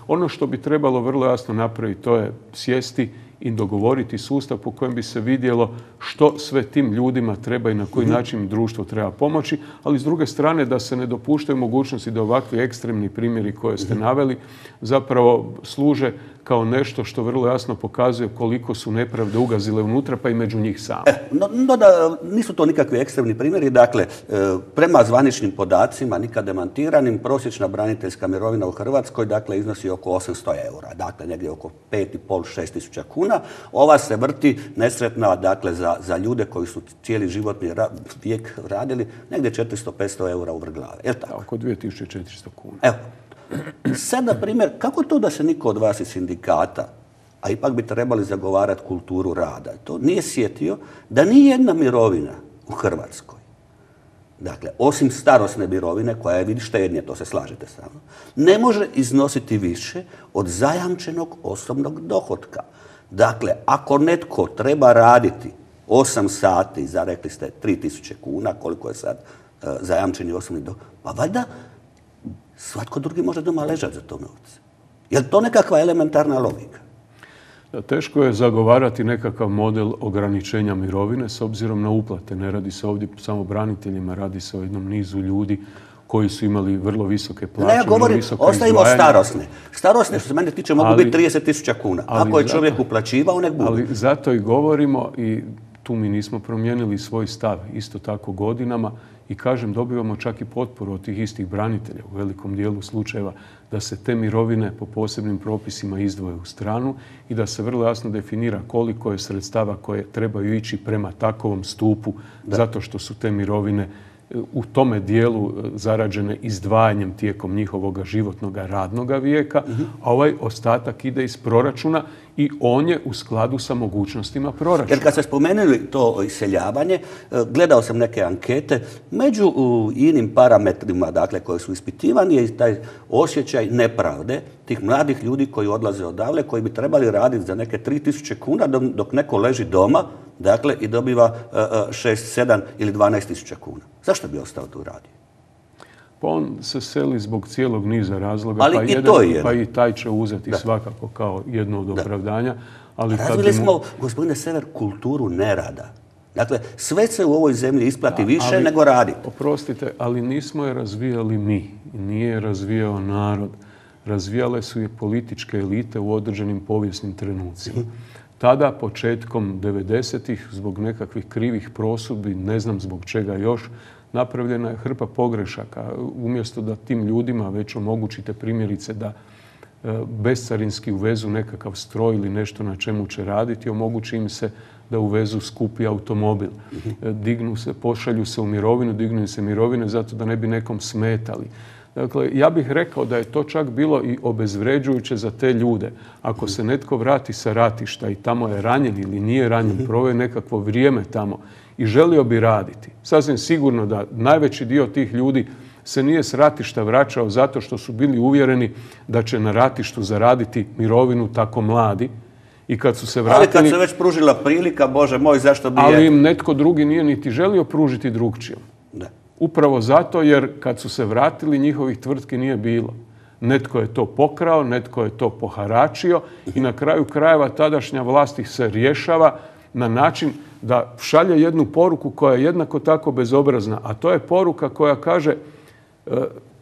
Speaker 2: Ono što bi trebalo vrlo jasno napraviti, to je sjesti i dogovoriti sustav po kojem bi se vidjelo što sve tim ljudima treba i na koji način društvo treba pomoći, ali s druge strane da se ne dopuštaju mogućnosti da ovakvi ekstremni primjeri koje ste naveli zapravo služe kao nešto što vrlo jasno pokazuje koliko su nepravde ugazile unutra, pa i među njih same.
Speaker 1: E, no, no da nisu to nikakvi ekstremni primjeri. Dakle, e, prema zvaničnim podacima, nikad demantiranim, prosječna braniteljska mirovina u Hrvatskoj dakle, iznosi oko osamsto eura. Dakle, negdje oko pet i pol do šest tisuća kuna. Ova se vrti nesretna dakle, za, za ljude koji su cijeli životni ra vijek radili, negdje četiristo do petsto eura u vrglave. Je tako?
Speaker 2: Oko dvije tisuće četiristo kuna.
Speaker 1: Evo. Sad, na primjer, kako to da se niko od vas iz sindikata, a ipak bi trebali zagovarati kulturu rada, to nije sjetio da nije jedna mirovina u Hrvatskoj, dakle, osim starosne mirovine, koja je vidi štednje, to se slažete sa mnom, ne može iznositi više od zajamčenog osobnog dohotka. Dakle, ako netko treba raditi osam sati za, rekli ste, tri tisuće kuna, koliko je sad uh, zajamčeni osobni dohodak, pa valjda svatko drugi može doma ležati za to novce. Je li to nekakva elementarna logika?
Speaker 2: Teško je zagovarati nekakav model ograničenja mirovine s obzirom na uplate. Ne radi se ovdje samo braniteljima, radi se o jednom nizu ljudi koji su imali vrlo visoke plaće.
Speaker 1: Ne, ja govorim, ostavimo starosne. Starosne, što se mene tiče, mogu ali, biti trideset tisuća kuna. Ako je čovjek uplaćivao, nek bude.
Speaker 2: Ali zato i govorimo, i tu mi nismo promijenili svoj stav, isto tako godinama, i kažem, dobivamo čak i potporu od tih istih branitelja u velikom dijelu slučajeva da se te mirovine po posebnim propisima izdvoje u stranu i da se vrlo jasno definira koliko je sredstava koje trebaju ići prema takovom stupu, da. Zato što su te mirovine u tome dijelu zarađene izdvajanjem tijekom njihovog životnog radnog vijeka, uh-huh. a ovaj ostatak ide iz proračuna i on je u skladu sa mogućnostima proračuna.
Speaker 1: Jer kad ste spomenuli to iseljavanje, gledao sam neke ankete, među inim parametrima dakle, koji su ispitivani je taj osjećaj nepravde tih mladih ljudi koji odlaze odavle, koji bi trebali raditi za neke tri tisuće kuna dok neko leži doma, dakle, i dobiva šest, sedam ili dvanaest tisuća kuna. Zašto bi ostao tu radio?
Speaker 2: Pa on se seli zbog cijelog niza razloga,
Speaker 1: ali
Speaker 2: pa,
Speaker 1: i,
Speaker 2: jedan,
Speaker 1: to je
Speaker 2: pa i taj će uzeti da. Svakako kao jedno od opravdanja. Ali
Speaker 1: razvili mu... smo, gospodine Sever, kulturu nerada. Dakle, sve se u ovoj zemlji isplati da, više
Speaker 2: ali,
Speaker 1: nego raditi.
Speaker 2: Oprostite, ali nismo je razvijali mi. Nije je razvijao narod. Razvijale su je političke elite u određenim povijesnim trenucima. Tada, početkom devedesetih, zbog nekakvih krivih prosudbi, ne znam zbog čega još, napravljena je hrpa pogrešaka. Umjesto da tim ljudima već omogućite primjerice da bescarinski uvezu nekakav stroj ili nešto na čemu će raditi, omogući im se da uvezu skupi automobil. Dignu se, pošalju se u mirovinu, dignu se mirovine zato da ne bi nekom smetali. Dakle, ja bih rekao da je to čak bilo i obezvređujuće za te ljude. Ako se netko vrati sa ratišta i tamo je ranjen ili nije ranjen, proveo nekakvo vrijeme tamo i želio bi raditi, sasvim sigurno da najveći dio tih ljudi se nije s ratišta vraćao zato što su bili uvjereni da će na ratištu zaraditi mirovinu tako mladi. I kad su se vratili...
Speaker 1: Ali kad se već pružila prilika, Bože moj, zašto bi...
Speaker 2: Ali im netko drugi nije niti želio pružiti drugčijom.
Speaker 1: Da.
Speaker 2: Upravo zato jer kad su se vratili njihovih tvrtki nije bilo. Netko je to pokrao, netko je to poharačio i na kraju krajeva tadašnja vlast ih se rješava na način da šalje jednu poruku koja je jednako tako bezobrazna, a to je poruka koja kaže e,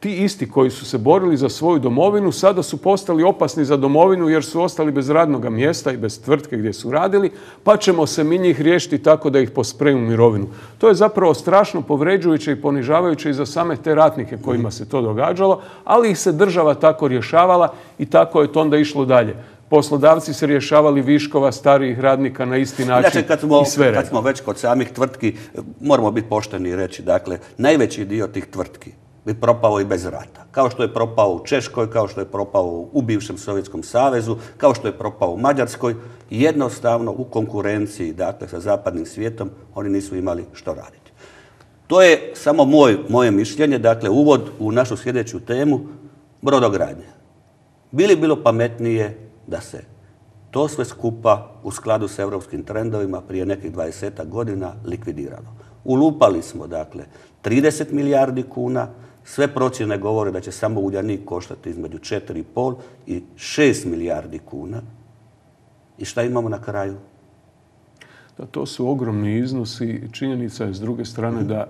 Speaker 2: ti isti koji su se borili za svoju domovinu sada su postali opasni za domovinu jer su ostali bez radnog mjesta i bez tvrtke gdje su radili, pa ćemo se mi njih riješiti tako da ih pospremu u mirovinu. To je zapravo strašno povređujuće i ponižavajuće i za same te ratnike kojima se to događalo, ali ih se država tako rješavala i tako je to onda išlo dalje. Poslodavci se rješavali viškova starijih radnika na isti način
Speaker 1: znači, kad smo,
Speaker 2: i sve
Speaker 1: kad smo već kod samih tvrtki, moramo biti pošteni i reći, dakle, najveći dio tih tvrtki bi propao i bez rata. Kao što je propao u Češkoj, kao što je propao u bivšem Sovjetskom savezu, kao što je propao u Mađarskoj. Jednostavno u konkurenciji, dakle, sa zapadnim svijetom, oni nisu imali što raditi. To je samo moj, moje mišljenje, dakle, uvod u našu sljedeću temu, brodogradnje. Bi li bilo pametnije da se to sve skupa u skladu s europskim trendovima prije nekih dvadesetak godina likvidiralo? Ulupali smo, dakle, trideset milijardi kuna, sve procjene govore da će samo Uljanik koštati između četiri i pol i šest milijardi kuna. I šta imamo na kraju?
Speaker 2: Da, to su ogromni iznosi. Činjenica je s druge strane da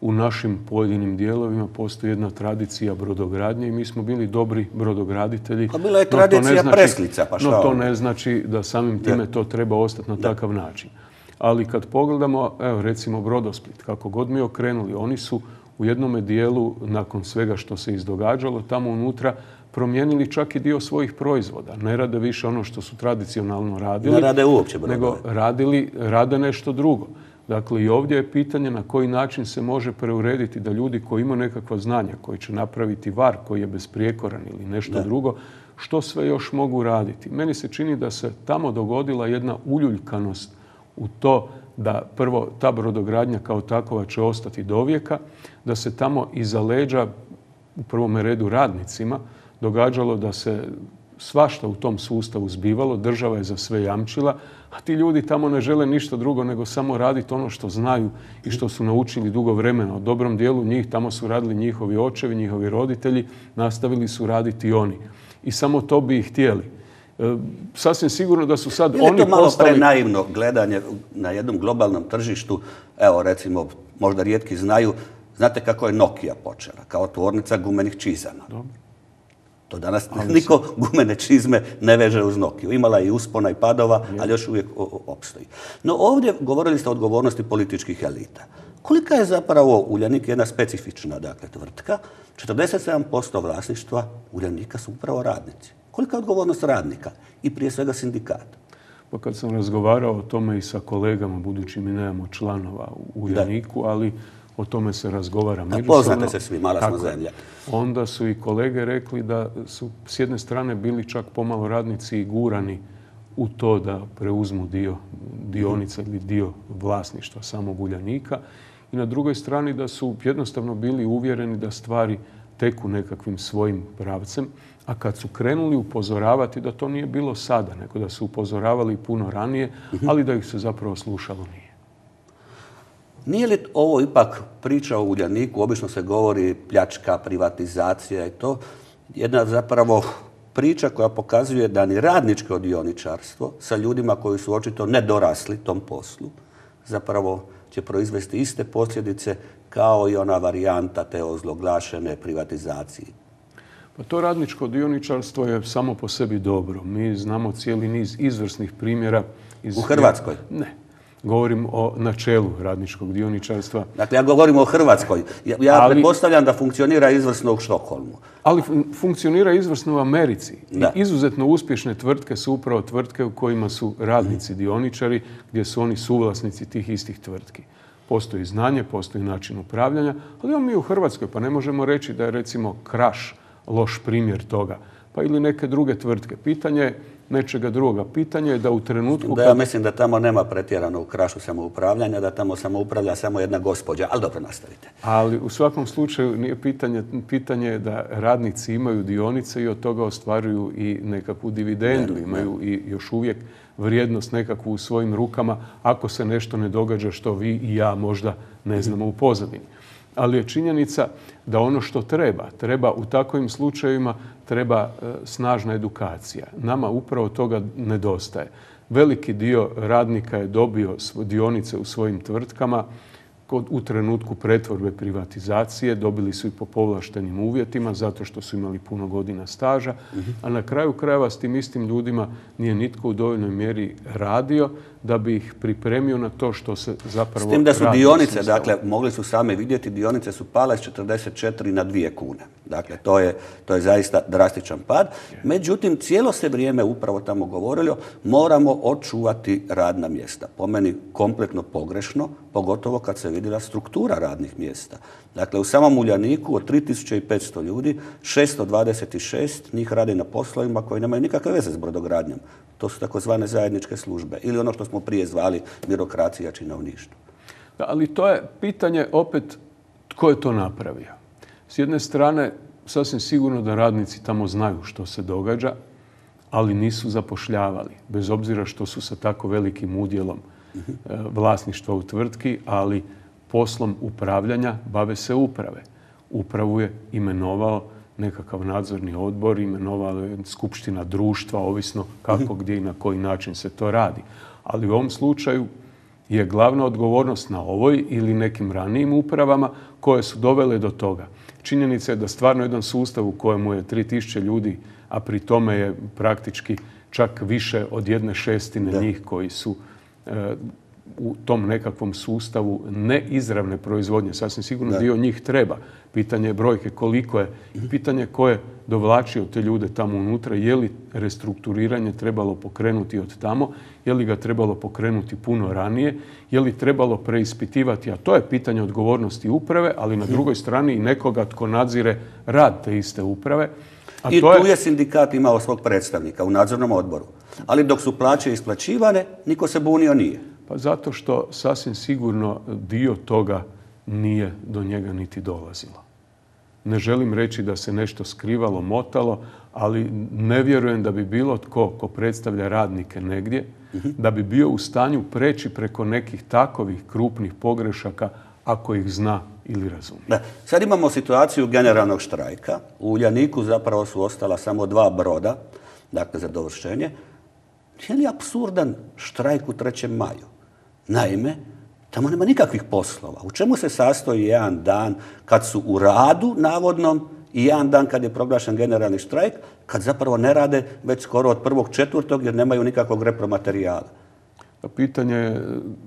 Speaker 2: u našim pojedinim dijelovima postoji jedna tradicija brodogradnje i mi smo bili dobri brodograditelji.
Speaker 1: Pa bila je tradicija preslica, pa šta?
Speaker 2: No to ne znači da samim time to treba ostati na takav način. Ali kad pogledamo, evo recimo Brodosplit, kako god mi okrenuli, oni su u jednome dijelu, nakon svega što se izdogađalo, tamo unutra promijenili čak i dio svojih proizvoda. Ne rade više ono što su tradicionalno radili.
Speaker 1: Ne rade uopće brodove.
Speaker 2: Nego radili, rade nešto drugo. Dakle, i ovdje je pitanje na koji način se može preurediti da ljudi koji imaju nekakva znanja, koji će napraviti var koji je besprijekoran ili nešto
Speaker 1: da.
Speaker 2: drugo, što sve još mogu raditi. Meni se čini da se tamo dogodila jedna uljuljkanost u to da prvo ta brodogradnja kao takova će ostati do vijeka, da se tamo iza leđa, u prvome redu radnicima, događalo da se svašta u tom sustavu zbivalo, država je za sve jamčila, a ti ljudi tamo ne žele ništa drugo nego samo raditi ono što znaju i što su naučili dugo vremena. U dobrom dijelu njih tamo su radili njihovi očevi, njihovi roditelji, nastavili su raditi i oni. I samo to bi ih htjeli. E, sasvim sigurno da su sad
Speaker 1: oni postali... Je to malo
Speaker 2: postali...
Speaker 1: prenaivno gledanje na jednom globalnom tržištu? Evo, recimo, možda rijetki znaju, znate kako je Nokia počela? Kao tvornica gumenih čizama.
Speaker 2: Dobro.
Speaker 1: To danas ali niko se... gumene čizme ne veže uz Nokiju. Imala je i uspona i padova, je. Ali još uvijek opstoji. No ovdje govorili ste o odgovornosti političkih elita. Kolika je zapravo Uljanik jedna specifična dakle, tvrtka? četrdeset sedam posto vlasništva Uljanika su upravo radnici. Kolika je odgovornost radnika i prije svega sindikata?
Speaker 2: Pa kad sam razgovarao o tome i sa kolegama, budući mi nemamo članova u Uljaniku, da. Ali o tome se razgovara međusobno.
Speaker 1: Poznate se svi, mala smo zemlja.
Speaker 2: Onda su i kolege rekli da su s jedne strane bili čak pomalo radnici i gurani u to da preuzmu dio dionica ili dio vlasništva samog Uljanika. I na drugoj strani da su jednostavno bili uvjereni da stvari teku nekakvim svojim pravcem. A kad su krenuli upozoravati da to nije bilo sada, nego da su upozoravali puno ranije, ali da ih se zapravo slušalo nije.
Speaker 1: Nije li ovo ipak priča o Uljaniku, obično se govori pljačka, privatizacija i to, jedna zapravo priča koja pokazuje da ni radničko dioničarstvo sa ljudima koji su očito nedorasli tom poslu zapravo će proizvesti iste posljedice kao i ona varijanta te ozloglašene privatizacije.
Speaker 2: Pa to radničko dioničarstvo je samo po sebi dobro. Mi znamo cijeli niz izvrsnih primjera. Iz...
Speaker 1: U Hrvatskoj?
Speaker 2: Ne. Govorim o načelu radničkog dioničarstva.
Speaker 1: Dakle, ja govorim o Hrvatskoj. Ja, ja ali, pretpostavljam da funkcionira izvrsno u Štokholmu.
Speaker 2: Ali funkcionira izvrsno u Americi. Da. I izuzetno uspješne tvrtke su upravo tvrtke u kojima su radnici dioničari, gdje su oni suvlasnici tih istih tvrtki. Postoji znanje, postoji način upravljanja, ali imamo mi u Hrvatskoj, pa ne možemo reći da je recimo Kraš loš primjer toga. Pa ili neke druge tvrtke. Pitanje je nečega drugoga. Pitanje je da u trenutku...
Speaker 1: Da ja mislim da tamo nema pretjerano u Krašu samoupravljanja, da tamo samo upravlja samo jedna gospođa, ali dobro, nastavite.
Speaker 2: Ali u svakom slučaju nije pitanje, pitanje je da radnici imaju dionice i od toga ostvaruju i nekakvu dividendu, ne, imaju ne. I još uvijek vrijednost nekakvu u svojim rukama ako se nešto ne događa što vi i ja možda ne znamo u pozadini. Ali je činjenica da ono što treba, treba u takvim slučajevima, treba e, snažna edukacija. Nama upravo toga nedostaje. Veliki dio radnika je dobio dionice u svojim tvrtkama kod, u trenutku pretvorbe privatizacije, dobili su i po povlaštenim uvjetima zato što su imali puno godina staža, uh-huh. a na kraju krajeva s tim istim ljudima nije nitko u dovoljnoj mjeri radio da bi ih pripremio na to što se zapravo radi.
Speaker 1: S tim da su dionice, dakle, mogli su sami vidjeti, dionice su pale s četrdeset četiri na dvije kune. Dakle, to je, to je zaista drastičan pad. Međutim, cijelo se vrijeme upravo tamo govorilo, moramo očuvati radna mjesta. Po meni kompletno pogrešno, pogotovo kad se vidjela struktura radnih mjesta. Dakle, u samom Uljaniku od tri tisuće petsto ljudi, šesto dvadeset šest njih radi na poslovima koji nemaju nikakve veze s brodogradnjom. To su takozvane zajedničke službe ili ono što smo prije zvali birokracija, činovništvo.
Speaker 2: Da, ali to je pitanje opet tko je to napravio. S jedne strane, sasvim sigurno da radnici tamo znaju što se događa, ali nisu zapošljavali, bez obzira što su sa tako velikim udjelom uh-huh. vlasništva u tvrtki, ali poslom upravljanja bave se uprave. Upravu je imenovao nekakav nadzorni odbor, imenovala je skupština društva, ovisno kako, gdje i na koji način se to radi. Ali u ovom slučaju je glavna odgovornost na ovoj ili nekim ranijim upravama koje su dovele do toga. Činjenica je da stvarno jedan sustav u kojemu je tri tisuće ljudi, a pri tome je praktički čak više od jedne šestine da. njih koji su e, u tom nekakvom sustavu neizravne proizvodnje. Sasvim sigurno da. dio njih treba. Pitanje je brojke koliko je. Pitanje ko je dovlačio te ljude tamo unutra. Je li restrukturiranje trebalo pokrenuti od tamo? Je li ga trebalo pokrenuti puno ranije? Je li trebalo preispitivati? A to je pitanje odgovornosti uprave, ali na drugoj strani i nekoga tko nadzire rad te iste uprave.
Speaker 1: A I to tu je... je sindikat imao svog predstavnika u nadzornom odboru. Ali dok su plaće isplaćivane, niko se bunio nije.
Speaker 2: Pa zato što sasvim sigurno dio toga nije do njega niti dolazilo. Ne želim reći da se nešto skrivalo, motalo, ali ne vjerujem da bi bilo tko ko predstavlja radnike negdje, uh-huh. da bi bio u stanju preći preko nekih takovih krupnih pogrešaka ako ih zna ili razumije.
Speaker 1: Da. Sad imamo situaciju generalnog štrajka. U Uljaniku zapravo su ostala samo dva broda, dakle za dovršenje. Je li apsurdan štrajk u trećem maju? Naime, tamo nema nikakvih poslova. U čemu se sastoji jedan dan kad su u radu navodnom i jedan dan kad je proglašen generalni štrajk, kad zapravo ne rade već skoro od prvog četvrtog jer nemaju nikakvog repromaterijala?
Speaker 2: Pitanje je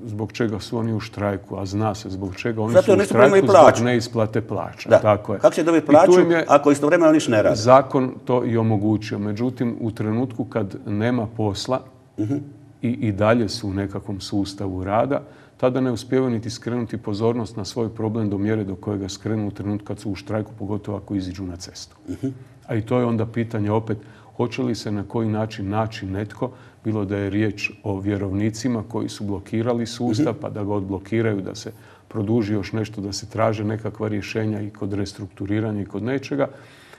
Speaker 2: zbog čega su oni u štrajku, a zna se zbog čega oni
Speaker 1: Zato
Speaker 2: su u štrajku zbog
Speaker 1: neisplate
Speaker 2: plaća.
Speaker 1: Da.
Speaker 2: Tako je.
Speaker 1: Kako će dobiti plaću ako istovremeno niš ne radi?
Speaker 2: Zakon to i omogućio. Međutim, u trenutku kad nema posla uh-huh. i, i dalje su u nekakvom sustavu rada, tada ne uspijevaju niti skrenuti pozornost na svoj problem do mjere do kojega skrenu u trenutku kad su u štrajku, pogotovo ako iziđu na cestu. Uh-huh. A i to je onda pitanje opet, hoće li se na koji način naći netko, bilo da je riječ o vjerovnicima koji su blokirali sustav, pa da ga odblokiraju, da se produži još nešto, da se traže nekakva rješenja i kod restrukturiranja i kod nečega.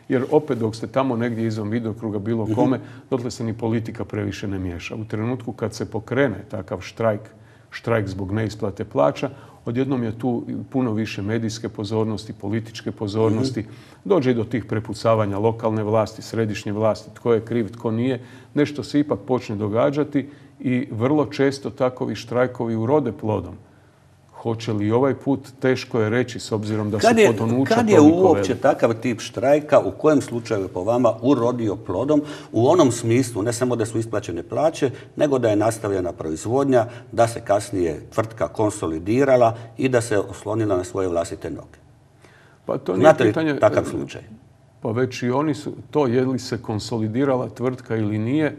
Speaker 2: Jer opet dok ste tamo negdje izvan vidokruga bilo kome, dotle se ni politika previše ne miješa. U trenutku kad se pokrene takav štrajk, štrajk zbog neisplate plaća, odjednom je tu puno više medijske pozornosti, političke pozornosti. Mm-hmm. Dođe i do tih prepucavanja lokalne vlasti, središnje vlasti, tko je kriv, tko nije. Nešto se ipak počne događati i vrlo često takovi štrajkovi urode plodom. Hoće li ovaj put, teško je reći s obzirom da
Speaker 1: kad
Speaker 2: su
Speaker 1: je,
Speaker 2: potonuća
Speaker 1: Kad je uopće veli. Takav tip štrajka, u kojem slučaju je po vama urodio plodom, u onom smislu ne samo da su isplaćene plaće, nego da je nastavljena proizvodnja, da se kasnije tvrtka konsolidirala i da se oslonila na svoje vlastite noge?
Speaker 2: Pa to nije
Speaker 1: Znate
Speaker 2: pitanje,
Speaker 1: li takav slučaj?
Speaker 2: Pa već i oni su, to je li se konsolidirala tvrtka ili nije,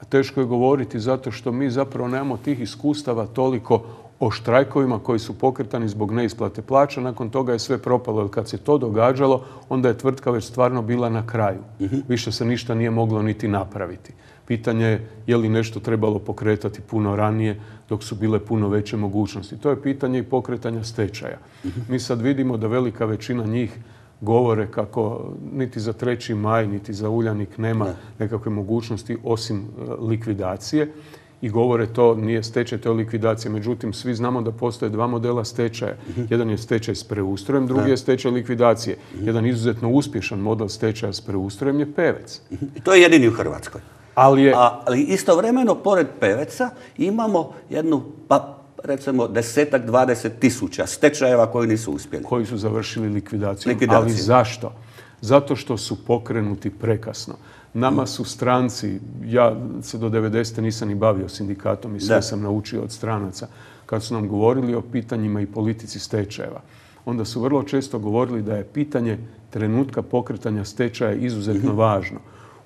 Speaker 2: teško je govoriti zato što mi zapravo nemamo tih iskustava toliko o štrajkovima koji su pokretani zbog neisplate plaća. Nakon toga je sve propalo, jer kad se to događalo, onda je tvrtka već stvarno bila na kraju. Uh-huh. Više se ništa nije moglo niti napraviti. Pitanje je je li nešto trebalo pokretati puno ranije dok su bile puno veće mogućnosti. To je pitanje i pokretanja stečaja. Uh-huh. Mi sad vidimo da velika većina njih govore kako niti za treći maj, niti za Uljanik nema ne. nekakve mogućnosti osim uh, likvidacije. I govore to nije stečaj, to je likvidacija. Međutim, svi znamo da postoje dva modela stečaja. Uh-huh. Jedan je stečaj s preustrojem, drugi da. je stečaj likvidacije. Uh-huh. Jedan izuzetno uspješan model stečaja s preustrojem je Pevec.
Speaker 1: Uh-huh. I to je jedini u Hrvatskoj.
Speaker 2: Ali, je...
Speaker 1: A, ali istovremeno, pored Peveca, imamo jednu, pa recimo, desetak, dvadeset tisuća stečajeva koji nisu uspjeli.
Speaker 2: Koji su završili likvidaciju.
Speaker 1: likvidaciju.
Speaker 2: Ali zašto? Zato što su pokrenuti prekasno. Nama su stranci, ja se do devedesete nisam ni bavio sindikatom i sve da. sam naučio od stranaca, kad su nam govorili o pitanjima i politici stečajeva. Onda su vrlo često govorili da je pitanje trenutka pokretanja stečaja izuzetno mm-hmm. važno.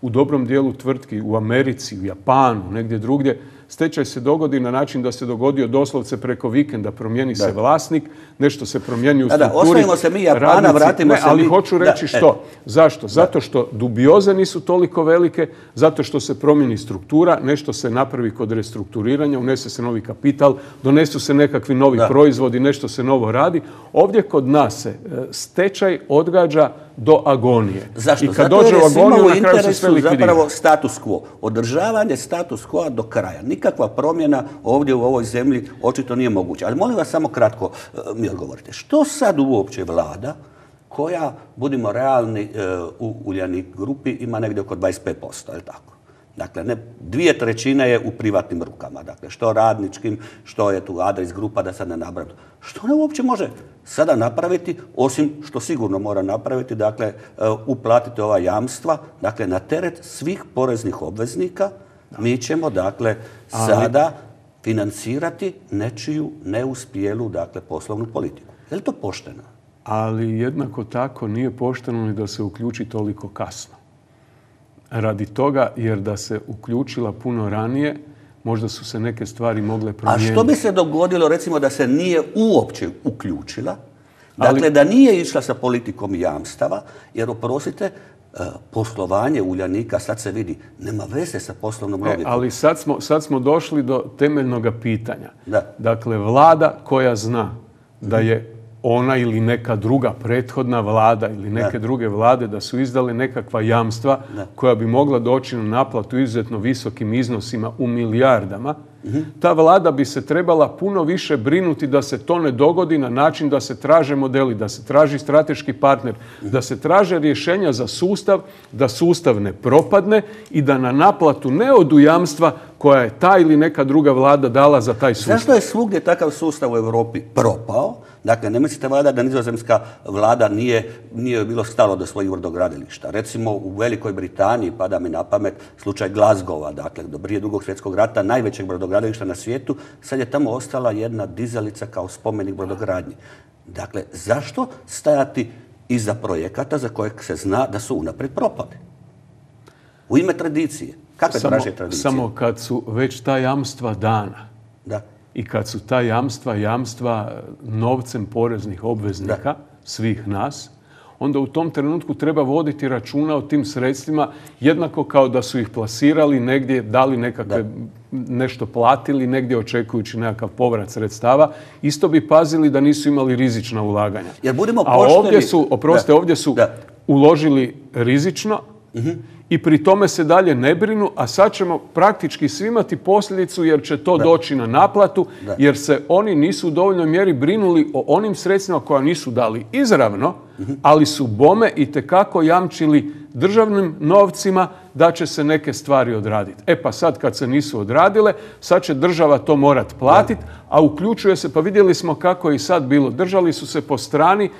Speaker 2: U dobrom dijelu tvrtki, u Americi, u Japanu, negdje drugdje, stečaj se dogodi na način da se dogodio doslovce preko vikenda, promijeni da. se vlasnik, nešto se promijeni u
Speaker 1: da,
Speaker 2: strukturi.
Speaker 1: Da, ostavimo se mi Japana, radnici, vratimo
Speaker 2: ne,
Speaker 1: se
Speaker 2: ali
Speaker 1: mi...
Speaker 2: hoću reći da, što. E. Zašto? Zato što dubioze nisu toliko velike, zato što se promijeni struktura, nešto se napravi kod restrukturiranja, unese se novi kapital, donesu se nekakvi novi da. proizvodi, nešto se novo radi. Ovdje kod nas se stečaj odgađa do agonije.
Speaker 1: Zašto?
Speaker 2: I kad
Speaker 1: Zato
Speaker 2: dođe
Speaker 1: jer
Speaker 2: u agoniju, na kraju se sve likvidira.
Speaker 1: Zapravo status quo. Održavanje status quo do kraja. Nikakva promjena ovdje u ovoj zemlji očito nije moguća. Ali molim vas samo kratko mi odgovorite. Što sad uopće vlada koja, budimo realni, u Uljanik grupi ima negdje oko dvadeset pet posto, je li tako? Dakle, ne, dvije trećine je u privatnim rukama. Dakle, što radničkim, što je tu Adris grupa, da sad ne nabrajam. Što ona uopće može sada napraviti, osim što sigurno mora napraviti, dakle, uplatiti ova jamstva, dakle, na teret svih poreznih obveznika, mi ćemo, dakle, sada financirati nečiju neuspjelu, dakle, poslovnu politiku. Je li to pošteno?
Speaker 2: Ali jednako tako nije pošteno ni da se uključi toliko kasno. Radi toga, jer da se uključila puno ranije, možda su se neke stvari mogle promijeniti.
Speaker 1: A što bi se dogodilo, recimo, da se nije uopće uključila? Dakle, ali, da nije išla sa politikom jamstava, jer, oprostite, poslovanje Uljanika, sad se vidi, nema veze sa poslovnom logikom.
Speaker 2: E, ali sad smo, sad smo došli do temeljnog pitanja.
Speaker 1: Da.
Speaker 2: Dakle, vlada koja zna da je ona ili neka druga prethodna vlada ili neke da. druge vlade da su izdale nekakva jamstva da. koja bi mogla doći na naplatu izuzetno visokim iznosima u milijardama, mm-hmm. ta vlada bi se trebala puno više brinuti da se to ne dogodi na način da se traže modeli, da se traži strateški partner, mm-hmm. da se traže rješenja za sustav, da sustav ne propadne i da na naplatu ne odu jamstva koja je ta ili neka druga vlada dala za taj sustav.
Speaker 1: Zašto je svugdje takav sustav u Europi propao? Dakle, ne mislite valjda da nizozemska vlada nije, nije bilo stalo do svojih brodogradilišta. Recimo u Velikoj Britaniji, pada mi na pamet, slučaj Glasgowa, dakle, do prije drugog svjetskog rata, najvećeg brodogradilišta na svijetu, sad je tamo ostala jedna dizalica kao spomenik brodogradnji. Dakle, zašto stajati iza projekata za kojeg se zna da su unaprijed propali? U ime tradicije. Kakve
Speaker 2: samo,
Speaker 1: traže tradicije?
Speaker 2: Samo kad su već ta jamstva dana.
Speaker 1: Da.
Speaker 2: I kad su ta jamstva, jamstva novcem poreznih obveznika, da. svih nas, onda u tom trenutku treba voditi računa o tim sredstvima jednako kao da su ih plasirali negdje, dali nekakve, da. nešto platili, negdje očekujući nekakav povrat sredstava. Isto bi pazili da nisu imali rizična ulaganja.
Speaker 1: Jer budemo
Speaker 2: A
Speaker 1: pošteni...
Speaker 2: ovdje su, oprostite, ovdje su da. uložili rizično, uh-huh. i pri tome se dalje ne brinu, a sad ćemo praktički svi imati posljedicu jer će to da. doći na naplatu, da. jer se oni nisu u dovoljnoj mjeri brinuli o onim sredstvima koja nisu dali izravno, uh-huh. ali su bome itekako jamčili državnim novcima da će se neke stvari odraditi. E pa sad kad se nisu odradile, sad će država to morat platiti, a uključuje se, pa vidjeli smo kako je i sad bilo, držali su se po strani,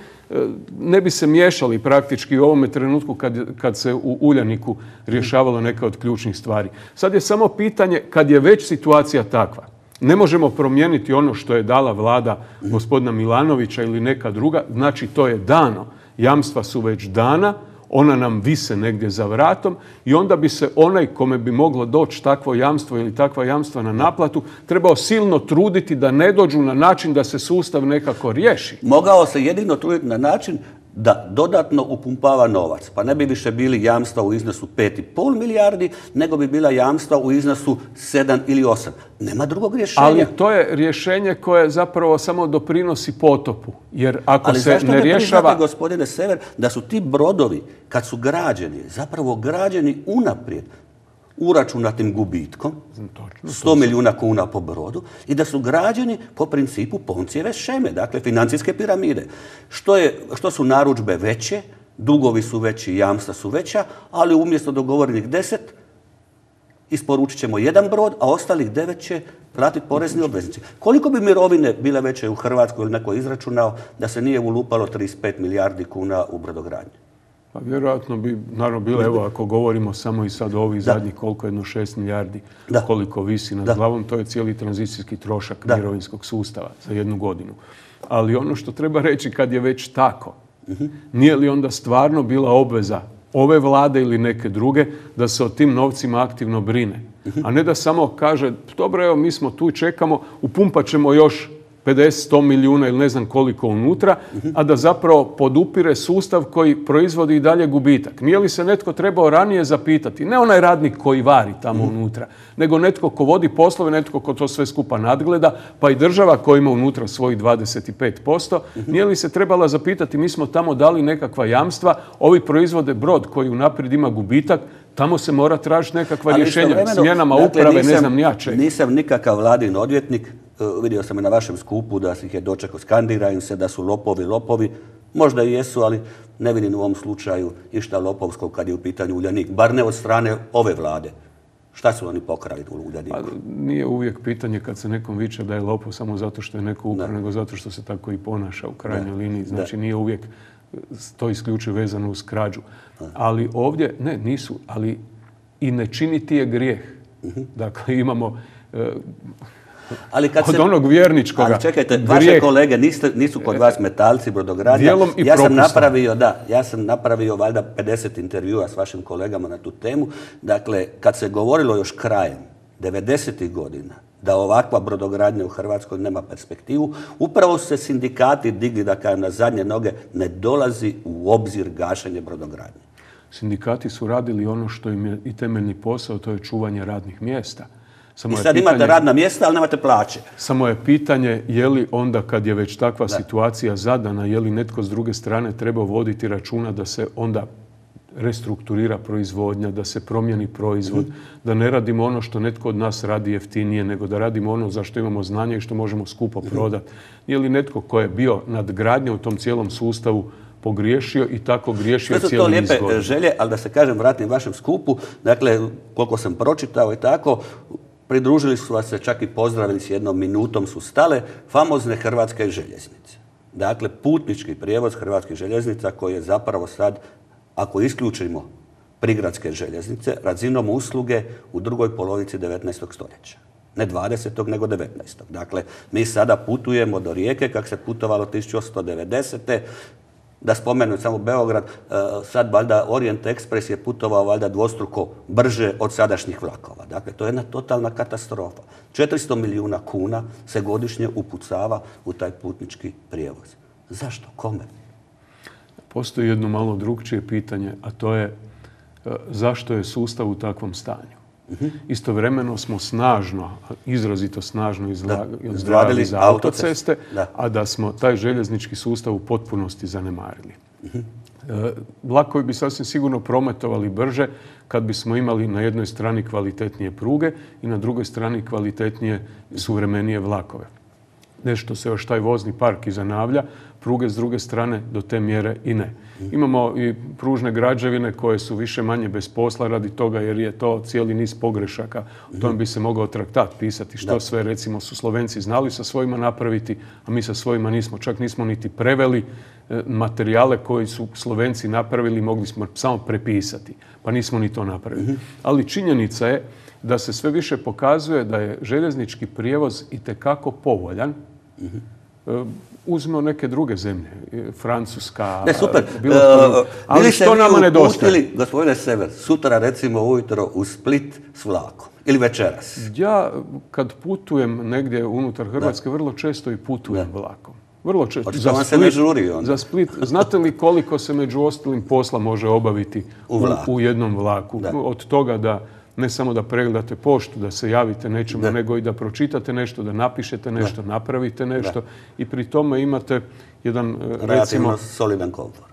Speaker 2: ne bi se miješali praktički u ovome trenutku kad, kad se u Uljaniku rješavalo neka od ključnih stvari. Sad je samo pitanje, kad je već situacija takva, ne možemo promijeniti ono što je dala vlada gospodina Milanovića ili neka druga, znači to je dano. Jamstva su već dana, ona nam vise negdje za vratom i onda bi se onaj kome bi moglo doći takvo jamstvo ili takva jamstva na naplatu trebao silno truditi da ne dođu na način da se sustav nekako riješi.
Speaker 1: Mogao se jedino truditi na način da dodatno upumpava novac. Pa ne bi više bili jamstva u iznosu pet i pol milijardi, nego bi bila jamstva u iznosu sedam ili osam. Nema drugog rješenja.
Speaker 2: Ali to je rješenje koje zapravo samo doprinosi potopu. Jer ako
Speaker 1: Ali
Speaker 2: se ne rješava...
Speaker 1: Ali zašto ne priznate, gospodine Sever, da su ti brodovi, kad su građeni, zapravo građeni unaprijed, uračunatim gubitkom, sto milijuna kuna po brodu, i da su građeni po principu Poncijeve šeme, dakle financijske piramide. Što, je, što su narudžbe veće, dugovi su veći, jamstva su veća, ali umjesto dogovorenih deset, isporučit ćemo jedan brod, a ostalih devet će platiti porezni obveznici. Koliko bi mirovine bile veće u Hrvatskoj ili neko izračunao da se nije ulupalo trideset pet milijardi kuna u brodogradnji?
Speaker 2: Pa vjerojatno bi, naravno, bilo, evo, ako govorimo samo i sad ovih zadnjih koliko jedno šest milijardi, da. koliko visi nad da. glavom, to je cijeli tranzicijski trošak da. mirovinskog sustava za jednu godinu. Ali ono što treba reći, kad je već tako, uh-huh. nije li onda stvarno bila obveza ove vlade ili neke druge da se o tim novcima aktivno brine? Uh-huh. A ne da samo kaže, dobro, evo, mi smo tu i čekamo, upumpat ćemo još pedeset, sto milijuna ili ne znam koliko unutra, a da zapravo podupire sustav koji proizvodi i dalje gubitak. Nije li se netko trebao ranije zapitati, ne onaj radnik koji vari tamo unutra, nego netko ko vodi poslove, netko ko to sve skupa nadgleda, pa i država koja ima unutra svojih dvadeset pet posto, nije li se trebala zapitati, mi smo tamo dali nekakva jamstva, ovi proizvode brod koji unaprijed ima gubitak, tamo se mora tražiti nekakva
Speaker 1: Ali
Speaker 2: rješenja, smjenama dakle, uprave, nisam, ne znam ni ja čega.
Speaker 1: Nisam nikakav vladin odvjetnik, vidio sam i na vašem skupu da ih je dočekao, skandira im se da su lopovi, lopovi. Možda i jesu, ali ne vidim u ovom slučaju išta lopovskog kad je u pitanju Uljanik. Bar ne od strane ove vlade. Šta su oni pokrali u Uljaniku?
Speaker 2: Pa, nije uvijek pitanje kad se nekom viče da je lopov samo zato što je neko ukrao, nego zato što se tako i ponaša u krajnjoj liniji. Znači nije uvijek to isključivo vezano uz krađu. Ali ovdje, ne, nisu, ali i ne činiti je grijeh. Dakle, imamo
Speaker 1: ali kad
Speaker 2: od
Speaker 1: se,
Speaker 2: onog vjerničkoga
Speaker 1: ali čekajte,
Speaker 2: grijeh,
Speaker 1: vaše kolege niste, nisu kod vas metalci, brodogradnja.
Speaker 2: I
Speaker 1: ja sam napravio, da, ja sam napravio valjda pedeset intervjua s vašim kolegama na tu temu. Dakle, kad se govorilo još krajem devedesetih godina da ovakva brodogradnja u Hrvatskoj nema perspektivu, upravo su se sindikati digli, da kažem, na zadnje noge, ne dolazi u obzir gašenje brodogradnje.
Speaker 2: Sindikati su radili ono što im je i temeljni posao, to je čuvanje radnih mjesta.
Speaker 1: Samo I sad pitanje, imate radna mjesta, ali nemate plaće.
Speaker 2: Samo je pitanje je li onda kad je već takva da. situacija zadana, je li netko s druge strane treba voditi računa da se onda restrukturira proizvodnja, da se promijeni proizvod, mm. da ne radimo ono što netko od nas radi jeftinije, nego da radimo ono za što imamo znanje i što možemo skupo mm. prodati. Je li netko ko je bio nadgradnja u tom cijelom sustavu pogriješio i tako griješio cijeli niz godina?
Speaker 1: Sve su to lijepe želje, ali da se kažem, vratim vašem skupu, dakle, koliko sam pročitao i tako, pridružili su vas se, čak i pozdravili s jednom minutom su stale famozne hrvatske željeznice. Dakle, putnički prijevoz hrvatskih željeznica koji je zapravo sad, ako isključimo prigradske željeznice, razinom usluge u drugoj polovici devetnaestog stoljeća. Ne dvadesetog nego devetnaestog. Dakle, mi sada putujemo do Rijeke kako se putovalo tisuću osamsto devedesete. Da spomenu samo Beograd, sad valjda Orient Express je putovao valjda dvostruko brže od sadašnjih vlakova. Dakle, to je jedna totalna katastrofa. četiristo milijuna kuna se godišnje upucava u taj putnički prijevoz. Zašto? Kome?
Speaker 2: Postoji jedno malo drugčije pitanje, a to je zašto je sustav u takvom stanju. Uh-huh. Istovremeno smo snažno, izrazito snažno izdvajali za autoceste, da. a da smo taj željeznički sustav u potpunosti zanemarili. Uh-huh. E, vlakovi bi sasvim sigurno prometovali brže kad bismo imali na jednoj strani kvalitetnije pruge i na drugoj strani kvalitetnije suvremenije vlakove. Nešto se još taj vozni park i zanavlja, pruge s druge strane do te mjere i ne. Imamo i pružne građevine koje su više manje bez posla radi toga jer je to cijeli niz pogrešaka. O tome bi se mogao traktat pisati što da. sve recimo su Slovenci znali sa svojima napraviti, a mi sa svojima nismo. Čak nismo niti preveli materijale koji su Slovenci napravili, mogli smo samo prepisati. Pa nismo ni to napravili. Ali činjenica je da se sve više pokazuje da je željeznički prijevoz itekako povoljan. Uh-huh. Uzmimo neke druge zemlje, Francuska,
Speaker 1: ne, super.
Speaker 2: Bilo uh, ali što nama nedostaje?
Speaker 1: Bili, gospodine Sever, sutra recimo ujutro u Split s vlakom ili večeras?
Speaker 2: Ja kad putujem negdje unutar Hrvatske, da. vrlo često i putujem da. vlakom. Vrlo često.
Speaker 1: Za Split, se ne žuri onda.
Speaker 2: Za Split. Znate li koliko se među ostalim posla može obaviti u, u, u jednom vlaku? Da. Od toga da ne samo da pregledate poštu, da se javite nečemu, da. nego i da pročitate nešto, da napišete nešto, da. napravite nešto da. i pri tome imate jedan,
Speaker 1: relativno recimo, solidan komfor.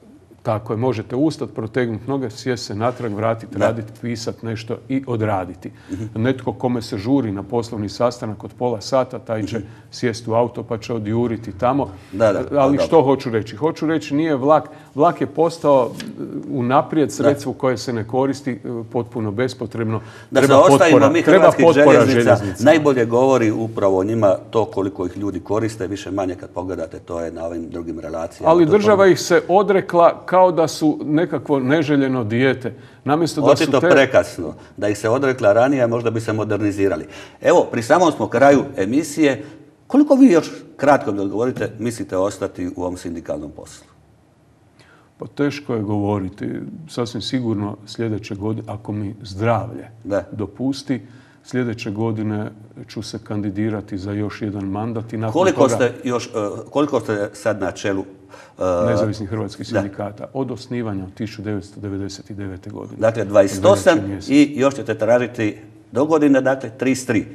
Speaker 2: Tako je, možete ustati, protegnuti noge, sjesti se natrag, vratiti, da. raditi, pisati nešto i odraditi. Uh-huh. Netko kome se žuri na poslovni sastanak od pola sata, taj će uh-huh. sjesti u auto pa će odjuriti tamo. Da, da, Ali da, što da. hoću reći? Hoću reći nije vlak. Vlak je postao unaprijed sredstvo da. koje se ne koristi potpuno bespotrebno.
Speaker 1: Da treba se ostavimo mi hrvatskih željeznica, najbolje govori upravo o njima to koliko ih ljudi koriste, više manje kad pogledate, to je na ovim drugim relacijama.
Speaker 2: Ali država to... ih se odrekla kao da su nekakvo neželjeno dijete. Namjesto da
Speaker 1: Očito
Speaker 2: su te...
Speaker 1: prekasno. Da ih se odrekla ranije, možda bi se modernizirali. Evo, pri samom smo kraju emisije. Koliko vi još, kratko mi odgovorite, mislite ostati u ovom sindikalnom poslu?
Speaker 2: Pa teško je govoriti. Sasvim sigurno sljedeće godine, ako mi zdravlje da. dopusti, sljedeće godine ću se kandidirati za još jedan mandat. I nakon
Speaker 1: koliko,
Speaker 2: toga...
Speaker 1: ste još, koliko ste sad na čelu
Speaker 2: Uh, nezavisnih hrvatskih sindikata da. od osnivanja od tisuću devetsto devedeset devete. godine.
Speaker 1: Dakle, dvadeset osam i još ćete tražiti do godine, dakle, trideset tri.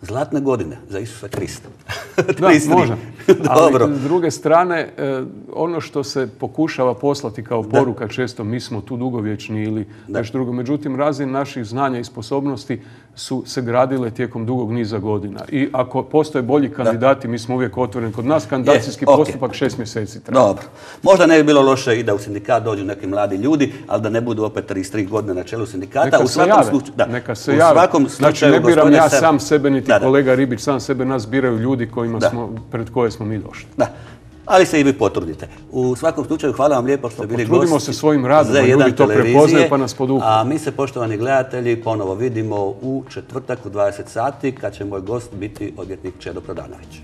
Speaker 1: Zlatne godine za Isusa Krista.
Speaker 2: Da, može.
Speaker 1: Dobro.
Speaker 2: Ali s druge strane, ono što se pokušava poslati kao poruka da. često, mi smo tu dugovječni ili nešto drugo. Međutim, razina naših znanja i sposobnosti su se gradile tijekom dugog niza godina. I ako postoje bolji kandidati, mi smo uvijek otvoreni. Kod nas kandidacijski
Speaker 1: Je, okay.
Speaker 2: postupak šest mjeseci treba.
Speaker 1: Dobro. Možda ne bi bilo loše i da u sindikat dođu neki mladi ljudi, ali da ne budu opet trideset tri godine na čelu sindikata.
Speaker 2: Neka
Speaker 1: u
Speaker 2: se
Speaker 1: svakom
Speaker 2: jave.
Speaker 1: slučaju, da.
Speaker 2: Neka se
Speaker 1: u
Speaker 2: jave.
Speaker 1: svakom slučaju,
Speaker 2: znači, ne biram ja
Speaker 1: Sem...
Speaker 2: sam sebe, niti
Speaker 1: da, da.
Speaker 2: kolega Ribić sam sebe, nas biraju ljudi kojima
Speaker 1: Da.
Speaker 2: smo, pred koje smo mi došli.
Speaker 1: Da. Ali se i vi potrudite. U svakom slučaju, hvala vam lijepo što ste bili gosti.
Speaker 2: Potrudimo se svojim radom,
Speaker 1: Z jedan
Speaker 2: ljudi to
Speaker 1: televizije,
Speaker 2: prepoznaju pa nas podupru.
Speaker 1: A mi se, poštovani gledatelji, ponovo vidimo u četvrtak u dvadeset sati kad će moj gost biti odvjetnik Čedo Prodanović.